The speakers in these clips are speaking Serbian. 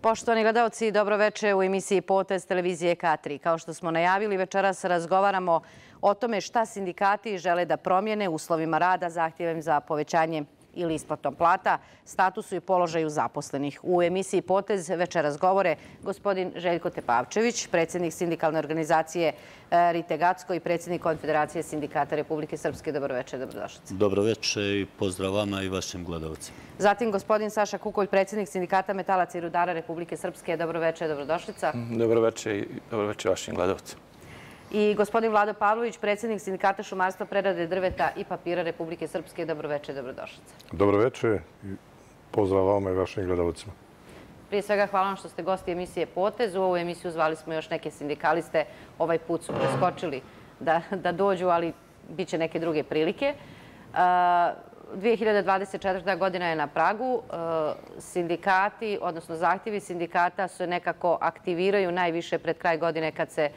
Poštovani gledalci, dobroveče u emisiji Potez televizije K3. Kao što smo najavili, večeras razgovaramo o tome šta sindikati žele da promijene u uslovima rada, zahtjevem za povećanje ili isplatom plata, statusu i položaju zaposlenih. U emisiji Potez večeras govore gospodin Željko Tepavčević, predsjednik sindikalne organizacije Rite Gacko i predsjednik Konfederacije sindikata Republike Srpske. Dobroveče, dobrodošlice. Dobroveče i pozdrav vama i vašim gledalcima. Zatim gospodin Saša Kukolj, predsjednik sindikata metalaca i rudara Republike Srpske. Dobroveče, dobrodošlica. Dobroveče i dobroveče vašim gledalcima. I gospodin Vlado Pavlović, predsjednik sindikata šumarstva, prerade drveta i papira Republike Srpske. Dobroveče, dobrodošlice. Dobroveče i pozdrav vama i vašim gledalcima. Prije svega hvala vam što ste gosti emisije Potez. U ovu emisiju zvali smo još neke sindikaliste. Ovaj put su preskočili da dođu, ali bit će neke druge prilike. 2024. godina je na pragu. Sindikati, odnosno zahtjevi sindikata se nekako aktiviraju najviše pred kraj godine kad se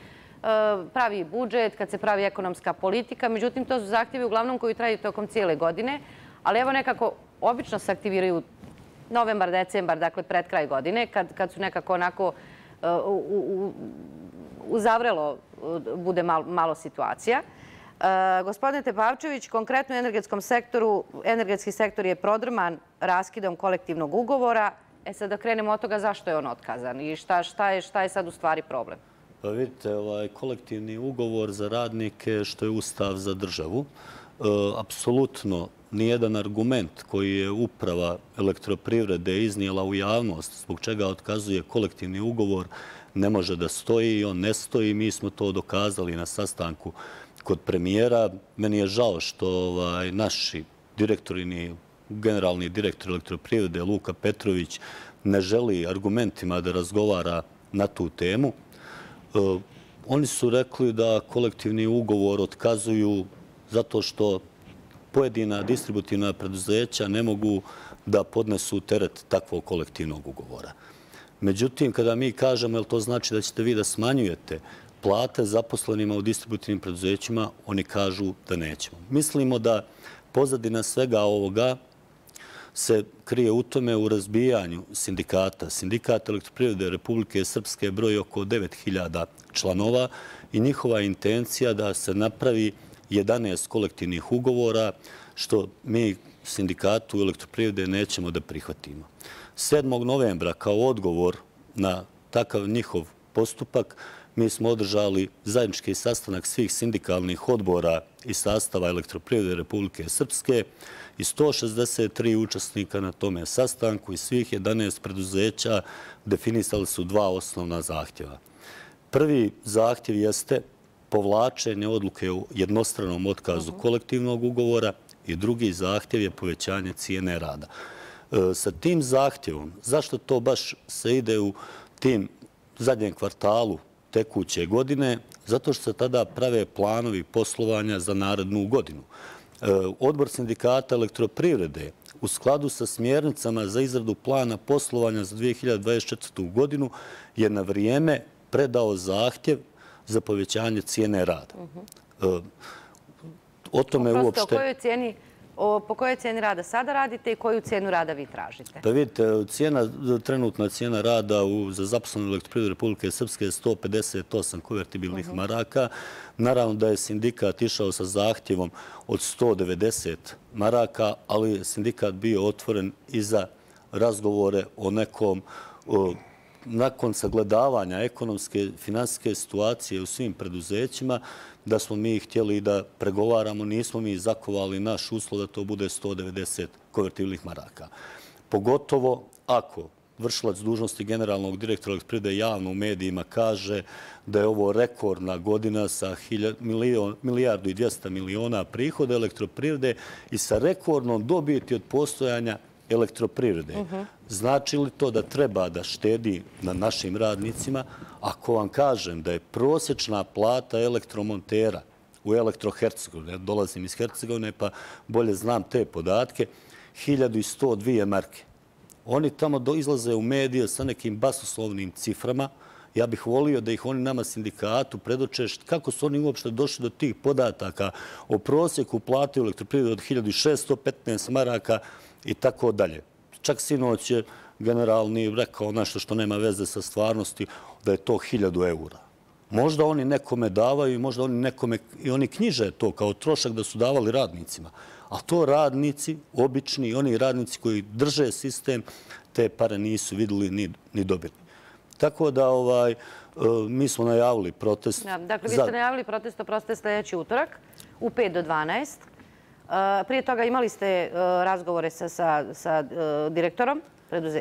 pravi budžet, kad se pravi ekonomska politika. Međutim, to su zahtjevi uglavnom koji traju tokom cijele godine. Ali evo nekako, obično se aktiviraju novembar, decembar, dakle pred kraj godine, kad su nekako onako uzavrelo bude malo situacija. Gospodine Tepavčević, konkretno u energetskom sektoru, energetski sektor je prodrman raskidom kolektivnog ugovora. Sad da krenemo od toga zašto je on otkazan i šta je sad u stvari problem? Pa vidite, kolektivni ugovor za radnike što je ustav za državu, apsolutno nijedan argument koji je uprava elektroprivrede iznijela u javnost zbog čega otkazuje kolektivni ugovor ne može da stoji i on ne stoji. Mi smo to dokazali na sastanku kod premijera. Meni je žao što naši direktori, generalni direktor elektroprivrede Luka Petrović ne želi argumentima da razgovara na tu temu. Oni su rekli da kolektivni ugovor otkazuju zato što pojedina distributivna preduzeća ne mogu da podnesu teret takvog kolektivnog ugovora. Međutim, kada mi kažemo, jel to znači da ćete vi da smanjujete plate zaposlenima u distributivnim preduzećima, oni kažu da nećemo. Mislimo da pozadina svega ovoga se krije u tome u razbijanju sindikata. Sindikat elektroprivrede Republike Srpske broji oko 9.000 članova i njihova intencija da se napravi 11 kolektivnih ugovora, što mi sindikatu elektroprivrede nećemo da prihvatimo. 7. novembra kao odgovor na takav njihov postupak mi smo održali zajednički sastanak svih sindikalnih odbora i sastava elektroprivrede Republike Srpske i 163 učesnika na tome sastanku i svih 11 preduzeća definisali su dva osnovna zahtjeva. Prvi zahtjev jeste povlačenje odluke u jednostranom otkazu kolektivnog ugovora i drugi zahtjev je povećanje cijene rada. Sa tim zahtjevom, zašto to baš se ide u tim zadnjem kvartalu tekuće godine? Zato što se tada prave planovi poslovanja za narednu godinu. Odbor sindikata elektroprivrede u skladu sa smjernicama za izradu plana poslovanja za 2024. godinu je na vrijeme predao zahtjev za povećanje cijene rada. O tome uopšte... Po kojoj cijeni rada sada radite i koju cijenu rada vi tražite? Pa vidite, trenutna cijena rada za zaposlenu elektroprivredu Republike Srpske je 158 konvertibilnih maraka. Naravno da je sindikat išao sa zahtjevom od 190 maraka, ali je sindikat bio otvoren i za razgovore o nekom nakon sagledavanja ekonomske, finansijske situacije u svim preduzećima, da smo mi htjeli da pregovaramo, nismo mi zakovali naš uslov da to bude 190 konvertibilnih maraka. Pogotovo ako vršilac dužnosti generalnog direktora elektroprivrede javno u medijima kaže da je ovo rekordna godina sa 1,2 milijarda prihoda elektroprivrede i sa rekordnom dobiti od postojanja elektroprivrede. Znači li to da treba da štedi na našim radnicima? Ako vam kažem da je prosječna plata elektromontera u Elektrohercegovini, ja dolazim iz Hercegovine pa bolje znam te podatke, 1102 marke. Oni tamo izlaze u medije sa nekim basoslovnim ciframa. Ja bih volio da ih oni nama sindikatu predoče kako su oni uopšte došli do tih podataka o prosjeku plate u elektroprivredi od 1615 maraka i tako dalje. Čak sinoć je generalni rekao nešto što nema veze sa stvarnosti, da je to 1000 eura. Možda oni nekome davaju i možda oni nekome, i oni knjiže to kao trošak da su davali radnicima. A to radnici, obični, oni radnici koji drže sistem, te pare nisu vidjeli ni dobili. Tako da mi smo najavili protest. Dakle, vi ste najavili protest, oprostite, sljedeći utorak u 5 do 12. Prije toga imali ste razgovore sa direktorom,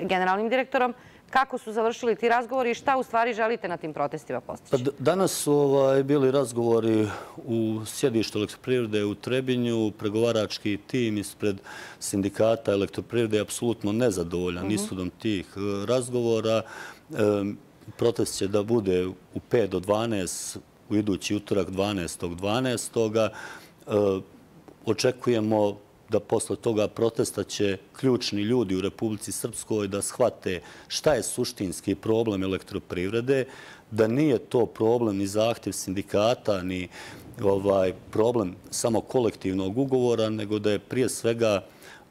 generalnim direktorom. Kako su završili ti razgovori i šta u stvari želite na tim protestima postići? Danas su bili razgovori u sjedištu Elektroprivrede u Trebinju. Pregovarački tim ispred sindikata Elektroprivrede je apsolutno nezadovoljan ishodom tih razgovora. Protest će da bude u 5 do 12 u idući utorak 12.12. Očekujemo da posle toga protesta će ključni ljudi u Republici Srpskoj da shvate šta je suštinski problem Elektroprivrede, da nije to problem ni zahtjev sindikata, ni problem samo kolektivnog ugovora, nego da je prije svega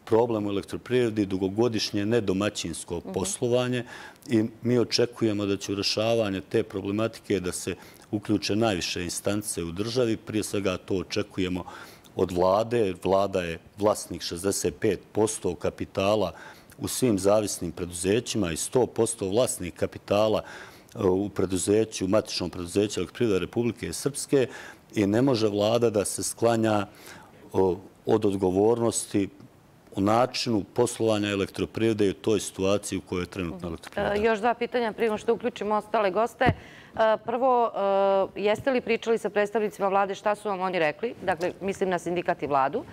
problem u Elektroprivredi dugogodišnje nedomaćinsko poslovanje i mi očekujemo da će u rješavanje te problematike da se uključe najviše instance u državi. Prije svega to očekujemo od vlade. Vlada je vlasnik 65% kapitala u svim zavisnim preduzećima i 100% vlasnik kapitala u preduzeću, matičnom preduzeću Elektroprivrede Republike Srpske i ne može vlada da se sklanja od odgovornosti u načinu poslovanja Elektroprivrede i u toj situaciji u kojoj je trenutno Elektroprivreda. Još 2 pitanja prije nego što uključimo ostale goste. Prvo, jeste li pričali sa predstavnicima vlade, šta su vam oni rekli? Dakle, mislim na sindikat i vladu,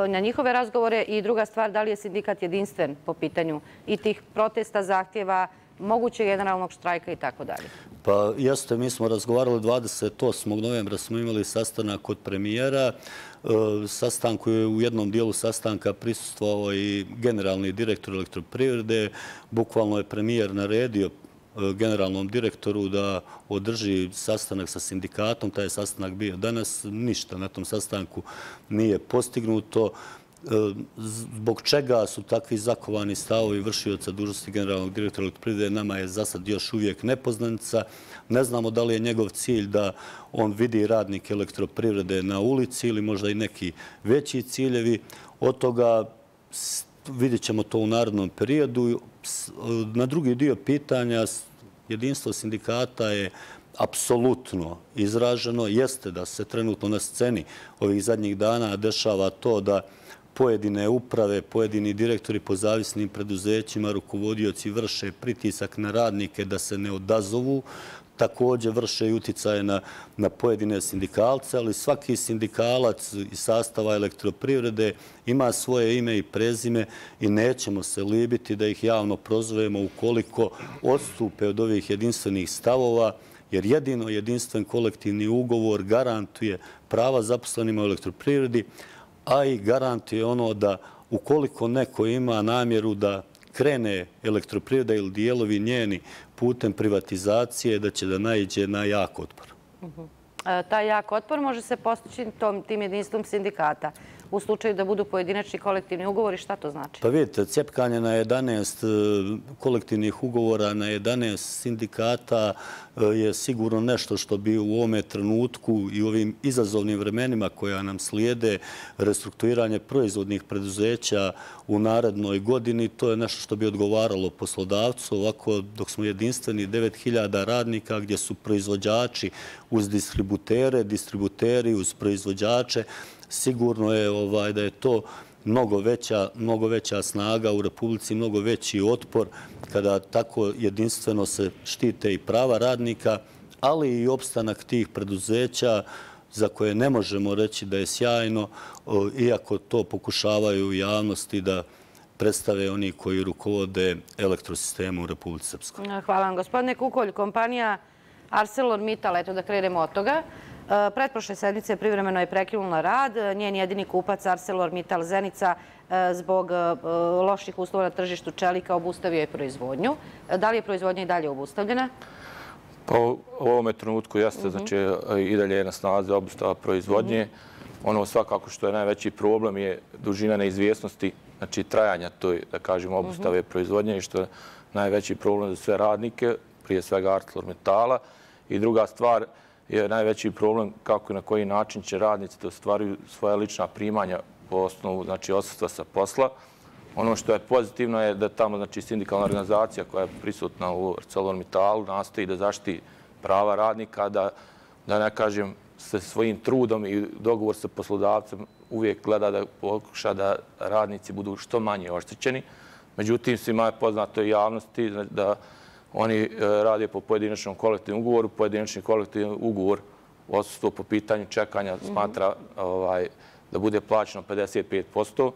na njihove razgovore. I druga stvar, da li je sindikat jedinstven po pitanju i tih protesta, zahtjeva, mogućeg generalnog štrajka i tako dalje? Pa jeste, mi smo razgovarali 28. novembra, smo imali sastanak kod premijera. Sastanku je u jednom dijelu sastanka prisustvovao i generalni direktor Elektroprivrede. Bukvalno je premijer naredio generalnom direktoru da održi sastanak sa sindikatom. Taj je sastanak bio danas. Ništa na tom sastanku nije postignuto. Zbog čega su takvi zakovani stavovi vršioca dužnosti generalnog direktora Elektroprivrede nama je za sad još uvijek nepoznanica. Ne znamo da li je njegov cilj da on vidi radnike Elektroprivrede na ulici ili možda i neki veći ciljevi. Od toga vidjet ćemo to u narednom periodu. Na drugi dio pitanja, jedinstvo sindikata je apsolutno izraženo. Jeste da se trenutno na sceni ovih zadnjih dana dešava to da pojedine uprave, pojedini direktori po zavisnim preduzećima, rukovodioci vrše pritisak na radnike da se ne odazovu. Također vrše i uticaje na pojedine sindikalce, ali svaki sindikalac iz sastava Elektroprivrede ima svoje ime i prezime i nećemo se libiti da ih javno prozovemo ukoliko odstupe od ovih jedinstvenih stavova, jer jedino jedinstven kolektivni ugovor garantuje prava zaposlenima u Elektroprivredi, a i garantuje ono da ukoliko neko ima namjeru da krene Elektroprivreda ili dijelovi njeni putem privatizacije, da će da naiđe na jak otpor. Taj jak otpor može se postići tim jedinstvom sindikata. U slučaju da budu pojedinačni kolektivni ugovori, šta to znači? Pa vidite, cjepkanje na 11 kolektivnih ugovora, na 11 sindikata je sigurno nešto što bi u ovome trenutku i u ovim izazovnim vremenima koja nam slijede restrukturiranje proizvodnih preduzeća u narednoj godini, to je nešto što bi odgovaralo poslodavcu. Ovako, dok smo jedinstveni 9000 radnika gdje su proizvođači uz distributere, distributeri uz proizvođače, sigurno je da je to mnogo veća snaga u Republici, mnogo veći otpor kada tako jedinstveno se štite i prava radnika, ali i opstanak tih preduzeća za koje ne možemo reći da je sjajno, iako to pokušavaju u javnosti da predstave oni koji rukovode elektrosistemu u Republici Srpskoj. Hvala vam, gospodine Kukolj. Kompanija ArcelorMittal, eto da krenemo od toga. Pretprošle sedmice privremeno je prekinula rad. Njen jedini kupac ArcelorMittal Zenica zbog loših uslova na tržištu čelika obustavio je proizvodnju. Da li je proizvodnja i dalje obustavljena? Pa u ovome trenutku jeste, znači i dalje je na snazi obustava proizvodnje. Ono svakako što je najveći problem je dužina neizvjesnosti, znači trajanja toj, da kažemo, obustave proizvodnje i što je najveći problem za sve radnike, prije svega ArcelorMittala. I druga stvar je najveći problem kako i na koji način će radnici da ostvaruju svoja lična primanja po osnovu, znači, odsustva sa posla. Ono što je pozitivno je da tamo, znači, sindikalna organizacija koja je prisutna u ArcelorMittalu nastoji da zaštiti prava radnika, da ne kažem, sa svojim trudom i dogovor sa poslodavcem uvijek gleda da pokuša da radnici budu što manje oštećeni. Međutim, svima je poznato i javnosti da oni rade po pojedinačnom kolektivnom ugovoru. Pojedinačni kolektivni ugovor, odsustvo po pitanju čekanja, smatra da bude plaćeno 55%.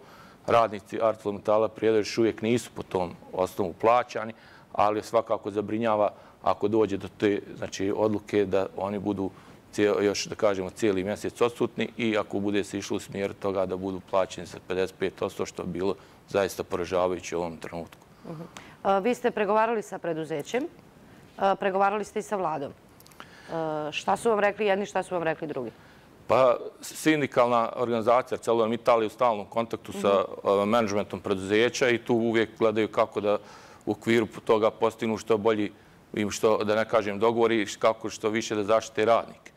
Radnici ArcelorMittala Prijedor još uvijek nisu po tom osnovu plaćani, ali svakako zabrinjava ako dođe do te, znači, odluke da oni budu još, da kažemo, cijeli mjesec odsutni i ako bude se išlo u smjeru toga da budu plaćeni sa 55%, što je bilo zaista poražavajuće u ovom trenutku. Vi ste pregovarali sa preduzećem, pregovarali ste i sa vladom. Šta su vam rekli jedni, šta su vam rekli drugi? Pa, sindikalna organizacija ArcelorMittal je u stalnom kontaktu sa menadžmentom preduzeća i tu uvijek gledaju kako da u okviru toga postignu što bolji, što, da ne kažem, dogovori, kako što više da zaštite radnike.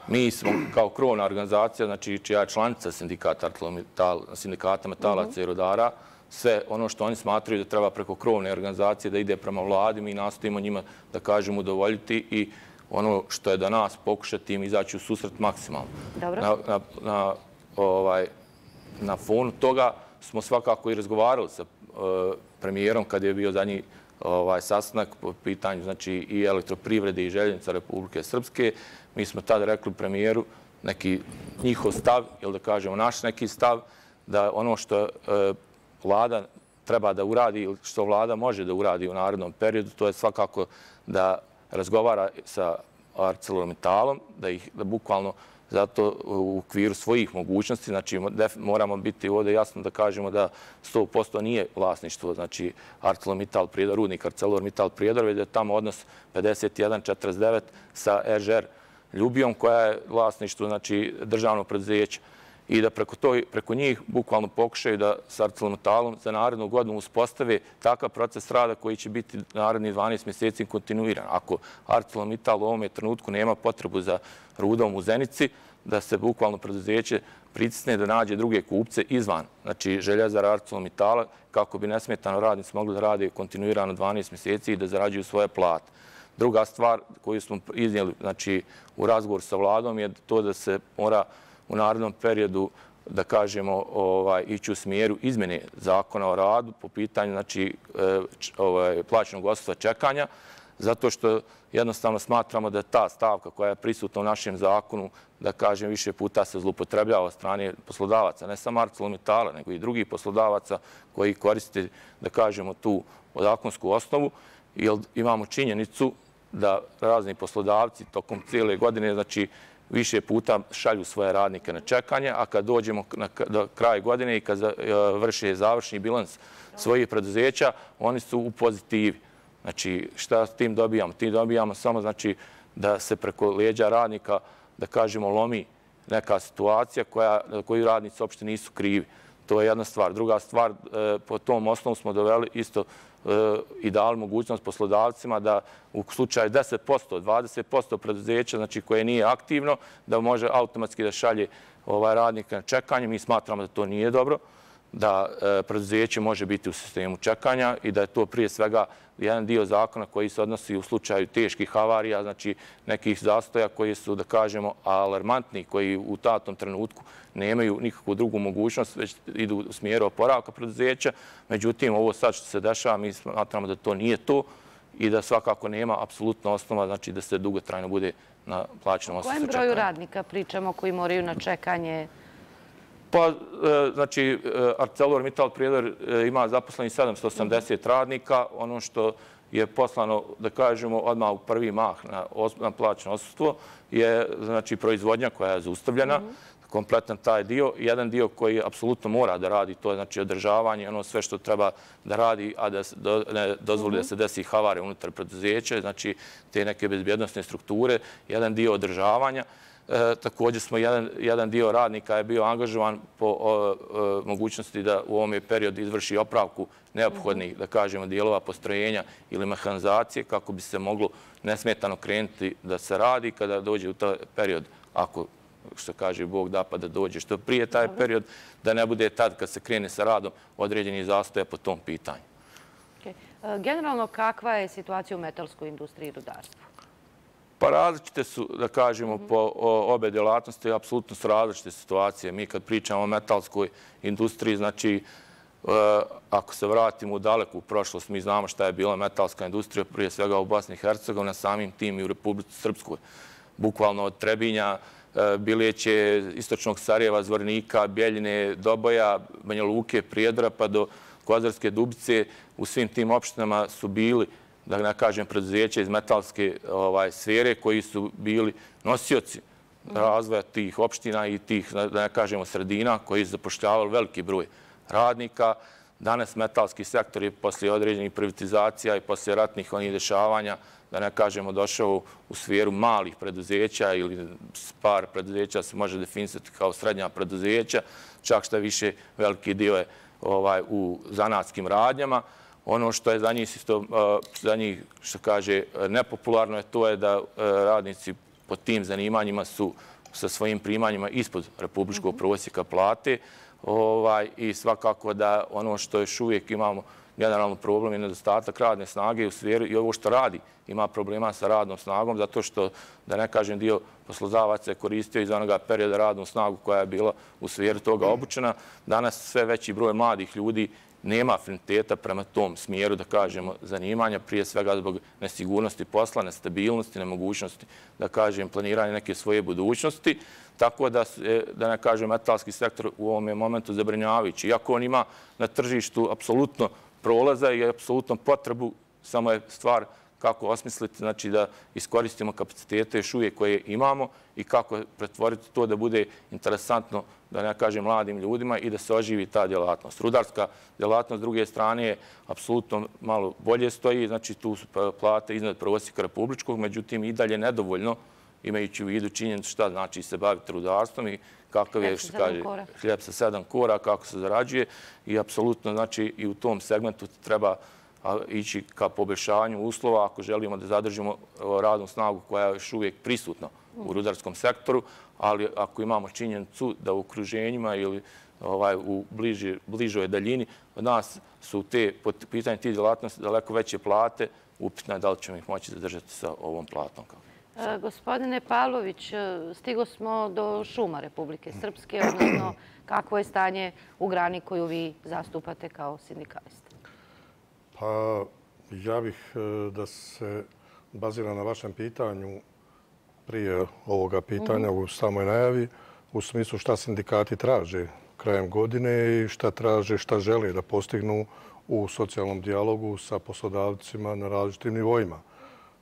Mi smo kao krovna organizacija, znači čija je članica sindikata metalaca i rodara, sve ono što oni smatraju da treba preko krovne organizacije da ide prema vladi, mi nastojimo njima, da kažem, udovoljiti i ono što je da nas pokušati im izaći u susret maksimalno. Na fonu toga smo svakako i razgovarali sa premijerom kad je bio zadnji sastanak po pitanju, znači, i elektroprivrede i željeznica Republike Srpske. Mi smo tada rekli premijeru neki njihov stav, ili da kažemo naš neki stav, da ono što vlada treba da uradi ili što vlada može da uradi u narednom periodu, to je svakako da razgovara sa ArcelorMittalom, da bukvalno zato u okviru svojih mogućnosti, znači moramo biti ovdje jasno da kažemo da 100% nije vlasništvo, znači ArcelorMittal Prijedor, rudnik ArcelorMittal Prijedor, već da je tamo odnos 51:49 sa RŽR Ljubijom, koja je vlasništvo, znači, državnog preduzeća. I da preko njih bukvalno pokušaju da s ArcelorMittalom za narednu godinu uspostave takav proces rada koji će biti narednih 12 mjeseci kontinuiran. Ako ArcelorMittal u ovome trenutku nema potrebu za rudom u Zenici, da se bukvalno preduzeće pritisne da nađe druge kupce izvan, znači željezara ArcelorMittala, kako bi nesmetano radnici mogli da rade kontinuirano 12 mjeseci i da zarađuju svoje plate. Druga stvar koju smo iznijeli, znači, u razgovoru sa vladom je to da se mora u narednom periodu, da kažemo, ići u smjeru izmjene zakona o radu po pitanju, znači, plaćenog odsustva čekanja, zato što jednostavno smatramo da ta stavka koja je prisutna u našem zakonu, da kažem, više puta se zloupotrebljava od strane poslodavaca, ne samo ArcelorMittala, nego i drugih poslodavaca koji koriste, da kažemo, tu zakonsku osnovu, jer imamo činjenicu da razni poslodavci tokom cijele godine, znači, više puta šalju svoje radnike na čekanje, a kad dođemo do kraja godine i kad vrše završni bilans svojih preduzeća, oni su u pozitivi. Znači, šta s tim dobijamo? Tim dobijamo samo, znači, da se preko leđa radnika, da kažemo, lomi neka situacija koju radnici uopšte nisu krivi. To je jedna stvar. Druga stvar, po tom osnovu smo doveli isto i dali mogućnost poslodavcima da u slučaju 10%, 20% preduzeća, znači koje nije aktivno, da može automatski da šalje radnika na čekanje. Mi smatramo da to nije dobro, da preduzeće može biti u sistemu čekanja i da je to prije svega jedan dio zakona koji se odnosi u slučaju teških havarija, znači nekih zastoja koji su, da kažemo, alarmantni, koji u datom trenutku nemaju nikakvu drugu mogućnost, već idu u smjeru oporavka preduzeća. Međutim, ovo sad što se dešava, mi smatramo da to nije to i da svakako nema apsolutno osnova, znači da se dugotrajno bude na plaćenom odsustvu čekanja. O kojem broju radnika pričamo koji moraju na čekanje? Pa, znači, ArcelorMittal Prijedor ima zaposlenih 780 radnika. Ono što je poslano, da kažemo, odmah u prvi mah na plaćeno odsustvo je, znači, proizvodnja koja je zaustavljena, kompletan taj dio. Jedan dio koji apsolutno mora da radi, to je, znači, održavanje, ono sve što treba da radi, a da ne dozvoli da se desi havare unutar preduzeća, znači, te neke bezbjednostne strukture, jedan dio održavanja. Također smo jedan dio radnika je bio angažovan po mogućnosti da u ovome periodu izvrši opravku neophodnih, da kažemo, dijelova postrojenja ili mehanizacije kako bi se moglo nesmetano krenuti da se radi kada dođe u taj period, ako što kaže Bog da pa da dođe što prije taj period, da ne bude tad kad se krene sa radom određeni zastoje po tom pitanju. Generalno, kakva je situacija u metalskoj industriji i rudarstvu? Pa različite su, da kažemo, po obe djelatnosti, apsolutno su različite situacije. Mi kad pričamo o metalskoj industriji, znači, ako se vratimo u daleku prošlost, mi znamo šta je bila metalska industrija, prije svega u Bosni i Hercegovini, samim tim i u Republici Srpskoj. Bukvalno od Trebinja, Biljeće, Istočnog Sarajeva, Zvornika, Bjeljine, Doboja, Banja Luke, Prijedora pa do Kozarske Dubice, u svim tim opštinama su bili, da ne kažem, preduzeća iz metalske sfere koji su bili nosioci razvoja tih opština i tih, da ne kažemo, sredina koji su zapošljavali veliki broj radnika. Danas metalski sektor je poslije određenih privatizacija i poslije ratnih onih dešavanja, da ne kažemo, došao u sferu malih preduzeća ili par preduzeća se može definisati kao srednja preduzeća, čak što više veliki dio je u zanatskim radnjama. Ono što je za njih, što kaže, nepopularno je to je da radnici po tim zanimanjima su sa svojim primanjima ispod republičkog prosjeka plate i svakako da ono što još uvijek imamo generalno problem je nedostatak radne snage u sferi i ovo što radi ima problema sa radnom snagom zato što, da ne kažem, dio poslodavaca je koristio iz onoga perioda radnu snagu koja je bila u sferi toga obučena. Danas sve veći broj mladih ljudi nema afiniteta prema tom smjeru, da kažemo, zanimanja, prije svega zbog nesigurnosti posla, nestabilnosti, nemogućnosti, da kažem, planiranja neke svoje budućnosti. Tako da ne kažem, metalski sektor u ovom momentu zabrinjavajući. Iako on ima na tržištu apsolutno prolaza i apsolutno potrebu, samo je stvar kako osmisliti, znači da iskoristimo kapacitete još uvijek koje imamo i kako pretvoriti to da bude interesantno, da ne kažem, mladim ljudima i da se oživi ta djelatnost. Rudarska djelatnost s druge strane je apsolutno malo bolje stoji, znači tu su plate iznad prosjeka republičkog, međutim i dalje nedovoljno, imajući u vidu činjenicu šta znači se baviti rudarstvom i kakav je, što kaže, hljeb sa 7 kora, kako se zarađuje i apsolutno, znači, i u tom segmentu treba ići ka poboljšanju uslova ako želimo da zadržimo radnu snagu koja je još uvijek prisutna u rudarskom sektoru, ali ako imamo činjenicu da u okruženjima ili u bližoj daljini od nas su po pitanju tih djelatnosti daleko veće plate, upitno je da li ćemo ih moći zadržati sa ovom platom. Gospodine Pavlović, stigo smo do šuma Republike Srpske, odnosno kakvo je stanje u grani koju vi zastupate kao sindikalista? Pa ja bih da se bazira na vašem pitanju prije ovoga pitanja u samoj najavi, u smislu šta sindikati traže krajem godine i šta traže, šta žele da postignu u socijalnom dijalogu sa poslodavcima na različitim nivoima.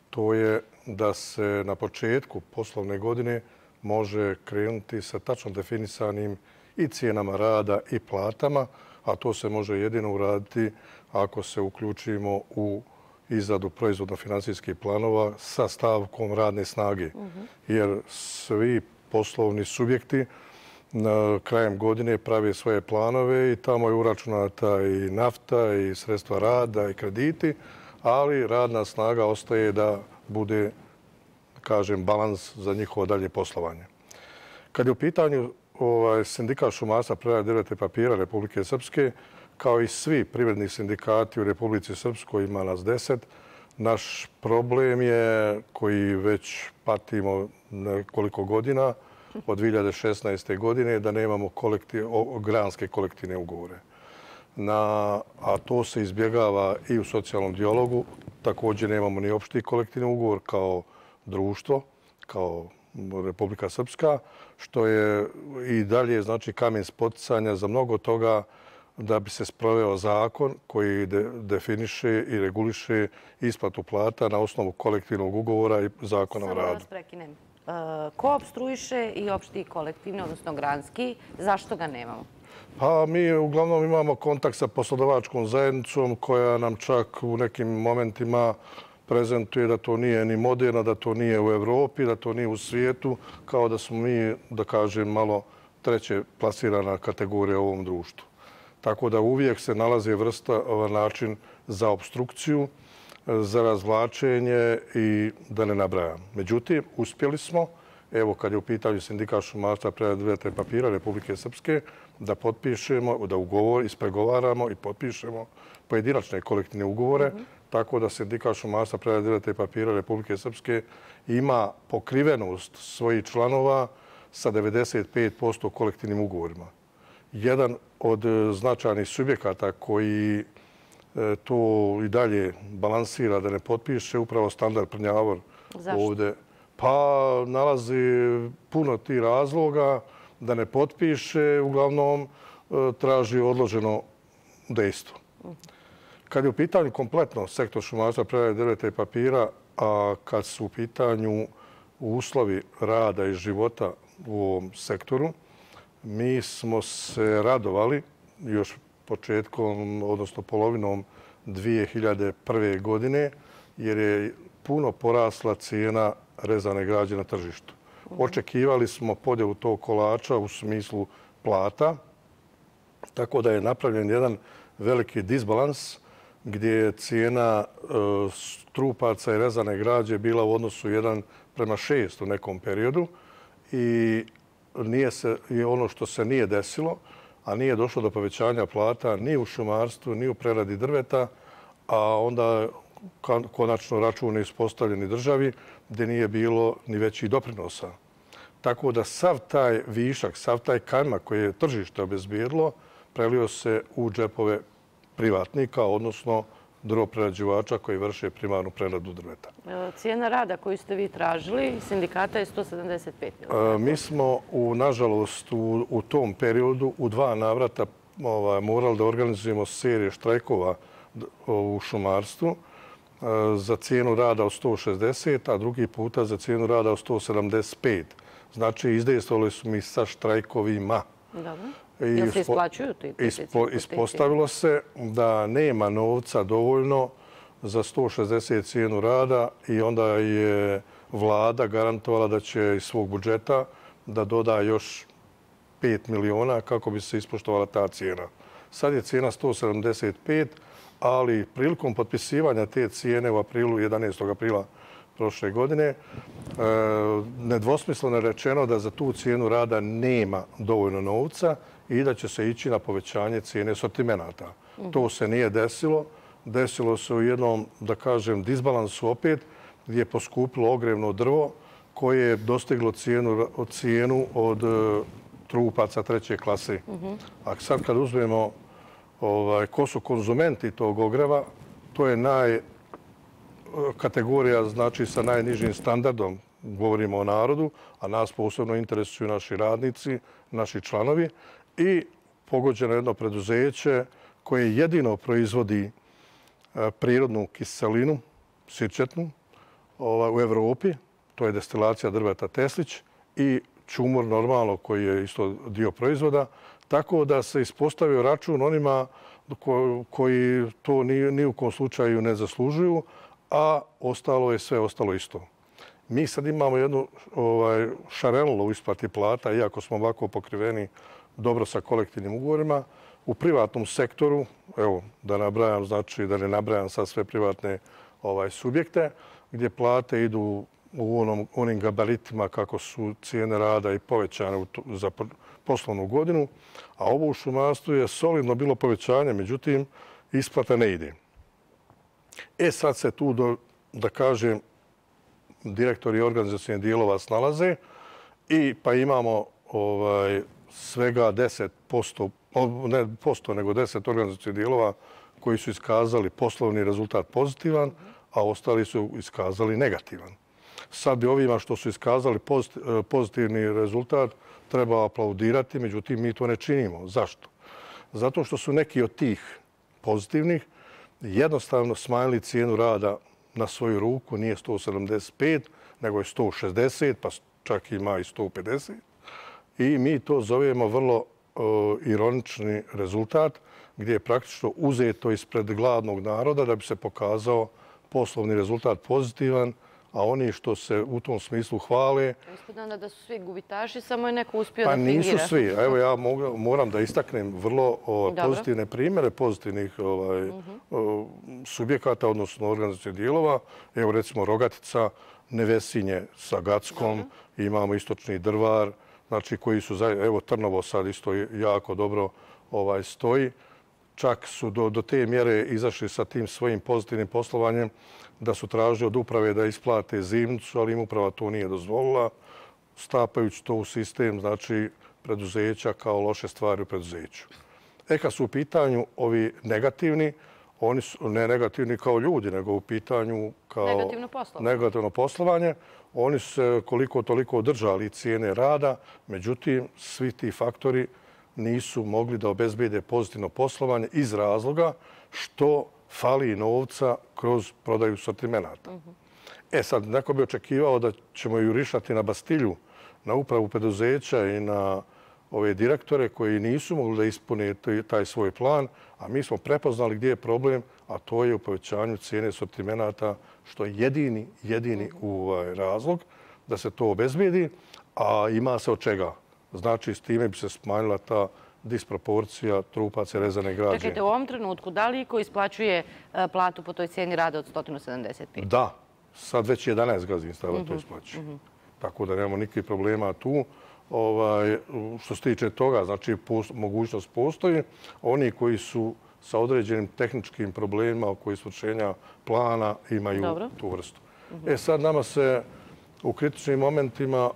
To je da se na početku poslovne godine može krenuti sa tačno definisanim i cijenama rada i platama, a to se može jedino uraditi ako se uključimo u izradu proizvodno-financijskih planova sa stavkom radne snage. Jer svi poslovni subjekti krajem godine prave svoje planove i tamo je uračunata i nafta i sredstva rada i krediti, ali radna snaga ostaje da bude, kažem, balans za njihovo dalje poslovanje. Kad je u pitanju sindikat šumarstva, prerade drveta i papira Republike Srpske, kao i svi privredni sindikati u Republici Srpskoj, ima nas 10, naš problem je koji već patimo nekoliko godina, od 2016. godine, da nemamo granske kolektivne ugovore. A to se izbjegava i u socijalnom dijalogu. Također nemamo ni opšti kolektivni ugovor kao društvo, kao Republika Srpska, što je i dalje, znači, kamen spoticanja za mnogo toga da bi se sproveo zakon koji definiše i reguliše isplatu plata na osnovu kolektivnog ugovora i zakona o radu. Samo da vas prekinem. Ko opstruiše i opšti kolektivni, odnosno granski? Zašto ga nemamo? Pa mi uglavnom imamo kontakt sa poslodavačkom zajednicom koja nam čak u nekim momentima prezentuje da to nije ni moderno, da to nije u Evropi, da to nije u svijetu, kao da smo mi, da kažem, malo treće plasirana kategorija u ovom društvu. Tako da uvijek se nalazi vrsta, način za obstrukciju, za razvlačenje i da ne nabrajam. Međutim, uspjeli smo, evo kad je u pitanju Sindikat šumarstva, prerade drveta i papira Republike Srpske, da potpišemo, da ispregovaramo i potpišemo pojedinačne kolektivne ugovore, tako da Sindikat šumarstva, prerade drveta i papira Republike Srpske ima pokrivenost svojih članova sa 95% kolektivnim ugovorima. Jedan od značajnih subjekata koji to i dalje balansira da ne potpiše upravo Standard Prnjavor ovdje. Pa nalazi puno tih razloga da ne potpiše, uglavnom traži odloženo dejstvo. Kad je u pitanju kompletno sektor šumarstva, prerade drveta i papira, a kad su u pitanju uslovi rada i života u ovom sektoru, mi smo se radovali još početkom, odnosno polovinom 2001. godine, jer je puno porasla cijena rezane građe na tržištu. Očekivali smo podjelu tog kolača u smislu plata, tako da je napravljen jedan veliki disbalans gdje je cijena trupaca i rezane građe bila u odnosu 1:6 u nekom periodu i ono što se nije desilo, a nije došlo do povećanja plata ni u šumarstvu, ni u preradi drveta, a onda konačno račun je ispostavljeni državi gdje nije bilo ni većih doprinosa. Tako da sav taj višak, sav taj kajmak koji je tržište obezbijedilo, prelio se u džepove privatnika, odnosno drvoprerađivača koji vrše primarnu preradu drveta. Cijena rada koju ste vi tražili, sindikata je 175. Mi smo, nažalost, u tom periodu u 2 navrata morali da organizujemo serije štrajkova u šumarstvu za cijenu rada od 160, a drugi puta za cijenu rada od 175. Znači, izdejstvovali su mi sa štrajkovima. Dobro. Jel se isplaćuju ti? Ispostavilo se da nema novca dovoljno za 160 cijenu rada i onda je vlada garantovala da će iz svog budžeta da doda još 5 miliona kako bi se ispoštovala ta cijena. Sad je cijena 175, ali prilikom potpisivanja te cijene u aprilu, 11. aprila prošle godine, nedvosmisleno je rečeno da za tu cijenu rada nema dovoljno novca i da će se ići na povećanje cijene sortimenata. To se nije desilo. Desilo se u jednom, da kažem, disbalansu opet, gdje je poskupilo ogrevno drvo koje je dostiglo cijenu od trupaca 3. klase. A sad kad uzmemo ko su konzumenti tog ogreva, to je kategorija znači sa najnižim standardom, govorimo o narodu, a nas posebno interesuju naši radnici, naši članovi i pogođeno jedno preduzeće koje jedino proizvodi prirodnu kiselinu, sirčetnu, u Evropi, to je destilacija drveta Teslić i čumur normalno koji je isto dio proizvoda, tako da se ispostavio račun onima koji to ni u kom slučaju ne zaslužuju, a sve ostalo isto. Mi sad imamo jednu šarenlu u isplati plata, iako smo ovako pokriveni dobro sa kolektivnim ugovorima. U privatnom sektoru, evo da nabrajam, znači da ne nabrajam sad sve privatne subjekte, gdje plate idu u onim gabaritima kako su cijene rada i povećane za poslovnu godinu, a ovo u šumarstvu je solidno bilo povećanje, međutim, isplata ne ide. Sad se tu, da kažem, direktori organizacijnih dijelova snalaze i pa imamo svega 10%, ne posto, nego 10 organizacijnih dijelova koji su iskazali poslovni rezultat pozitivan, a ostali su iskazali negativan. Sad bi ovima što su iskazali pozitivni rezultat treba aplaudirati, međutim mi to ne činimo. Zašto? Zato što su neki od tih pozitivnih jednostavno smanjili cijenu rada na svoju ruku, nije 175, nego je 160, pa čak ima i 150. I mi to zovemo vrlo ironični rezultat, gdje je praktično uzeto ispred gladnog naroda da bi se pokazao poslovni rezultat pozitivan, a oni što se u tom smislu hvale... Ispada da su svi gubitaši, samo je neko uspio da fingira. Pa nisu svi. Evo ja moram da istaknem vrlo pozitivne primjere pozitivnih subjekata, odnosno organizacijnih dijelova. Evo recimo Rogatica, Nevesinje sa Gackom, imamo Istočni Drvar, znači koji su, evo Trnovo sad isto jako dobro stoji. Čak su do te mjere izašli sa tim svojim pozitivnim poslovanjem da su tražili od uprave da isplate zimnicu, ali im uprava to nije dozvolila, stapajući to u sistem, znači, preduzeća kao loše stvari u preduzeću. Kad su u pitanju ovi negativni, oni su ne negativni kao ljudi, nego u pitanju kao negativno poslovanje. Oni su se koliko toliko održali cijene rada, međutim, svi ti faktori nisu mogli da obezbede pozitivno poslovanje iz razloga što fali novca kroz prodaju sortimenata. Sad, neko bi očekivao da ćemo jurišati na Bastilju, na upravu preduzeća i na ove direktore koji nisu mogli da ispune taj svoj plan, a mi smo prepoznali gdje je problem, a to je u povećanju cijene sortimenata, što je jedini razlog da se to obezbedi, a ima se od čega. Znači, s time bi se smanjila ta disproporcija trupaca i rezane građe. Čekajte, u ovom trenutku, da li iko isplaćuje platu po toj cijeni rada od 175? Da, sad već 11 gazdinstava to isplaćuje. Tako da nemamo nikakvih problema tu. Što se tiče toga, znači mogućnost postoji. Oni koji su sa određenim tehničkim problemima oko isvršenja plana imaju tu vrstu. Sad nama se u kritičnim momentima,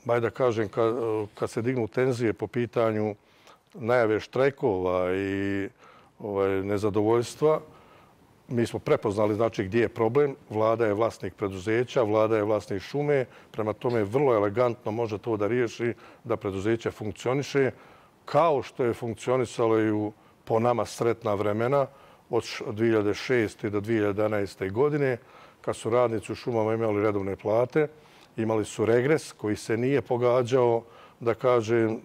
da kažem, kad se dignu tenzije po pitanju najave štrajkova i nezadovoljstva, mi smo prepoznali znači gdje je problem. Vlada je vlasnik preduzeća, vlada je vlasnik šume. Prema tome vrlo elegantno može to da riješi da preduzeće funkcioniše kao što je funkcionisalo i u po nama sretna vremena od 2006. do 2011. godine kad su radnici u šumama imali redovne plate. Imali su regres koji se nije pogađao, da kažem,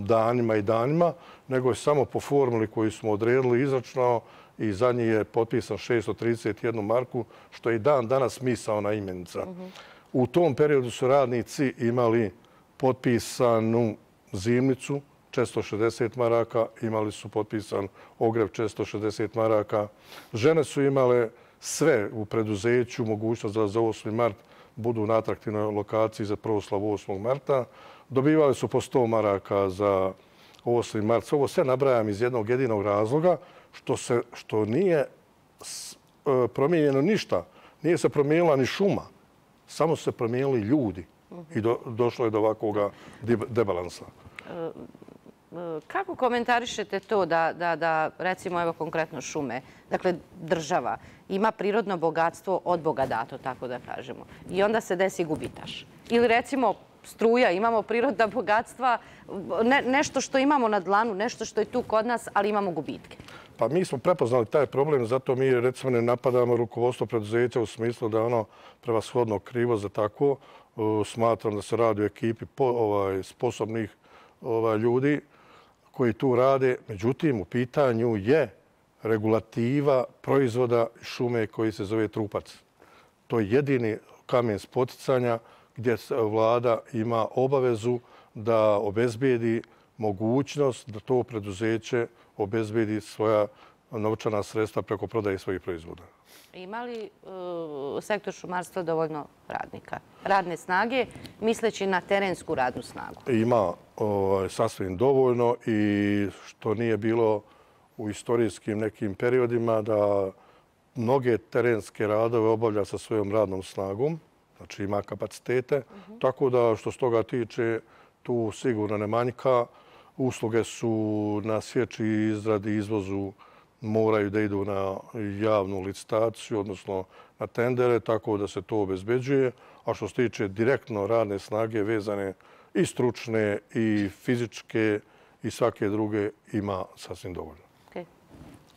danima i danima, nego je samo po formuli koju smo odredili izračunao i za njih je potpisan 631 marku, što je i dan danas misaona imenica. U tom periodu su radnici imali potpisanu zimnicu 460 maraka, imali su potpisan ogrev 460 maraka. Žene su imale sve u preduzeću, mogućnost da za 8. mart budu na atraktivnoj lokaciji za proslavu 8. marta. Dobivali su po 100 maraka za 8. mart. Ovo sve nabrajam iz jednog jedinog razloga što nije promijenjeno ništa. Nije se promijenila ni šuma. Samo su se promijenili ljudi i došlo je do ovakvog debalansa. Kako komentarišete to da recimo, evo konkretno šume, dakle država, ima prirodno bogatstvo od Boga dato, tako da kažemo, i onda se desi gubitaš? Ili recimo struja, imamo prirodna bogatstva, nešto što imamo na dlanu, nešto što je tu kod nas, ali imamo gubitke? Pa mi smo prepoznali taj problem, zato mi recimo ne napadamo rukovodstvo preduzeća u smislu da je ono prevashodno krivo za tako. Smatram da se radi o ekipi sposobnih ljudi koji tu rade. Međutim, u pitanju je regulativa proizvoda šume koji se zove trupac. To je jedini kamen spoticanja gdje vlada ima obavezu da obezbijedi mogućnost da to preduzeće obezbijedi svoja novčana sredstva preko prodaje svojih proizvoda. Ima li sektor šumarstva dovoljno radnika, radne snage, misleći na terensku radnu snagu? Ima sasvim dovoljno i što nije bilo u istorijskim nekim periodima da mnoge terenske radove obavlja sa svojom radnom snagom, znači ima kapacitete, tako da što s toga tiče tu sigurno ne manjka. Usluge su na sječi, izradi i izvozu moraju da idu na javnu licitaciju, odnosno na tendere, tako da se to obezbeđuje. A što se tiče direktno radne snage vezane i stručne i fizičke i svake druge ima sasvim dovoljno.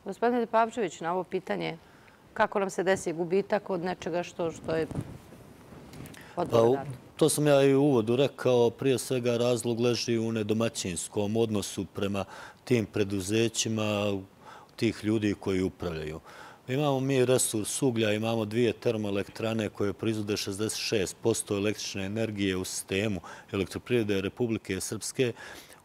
Gospodine Pavčević, na ovo pitanje kako nam se desi gubitak od nečega što je od Boga dato? To sam ja i u uvodu rekao. Prije svega razlog leži u nedomaćinskom odnosu prema tim preduzećima, tih ljudi koji upravljaju. Imamo mi resurs uglja, imamo 2 termoelektrane koje proizvode 66% električne energije u sistemu elektroprivrede Republike Srpske.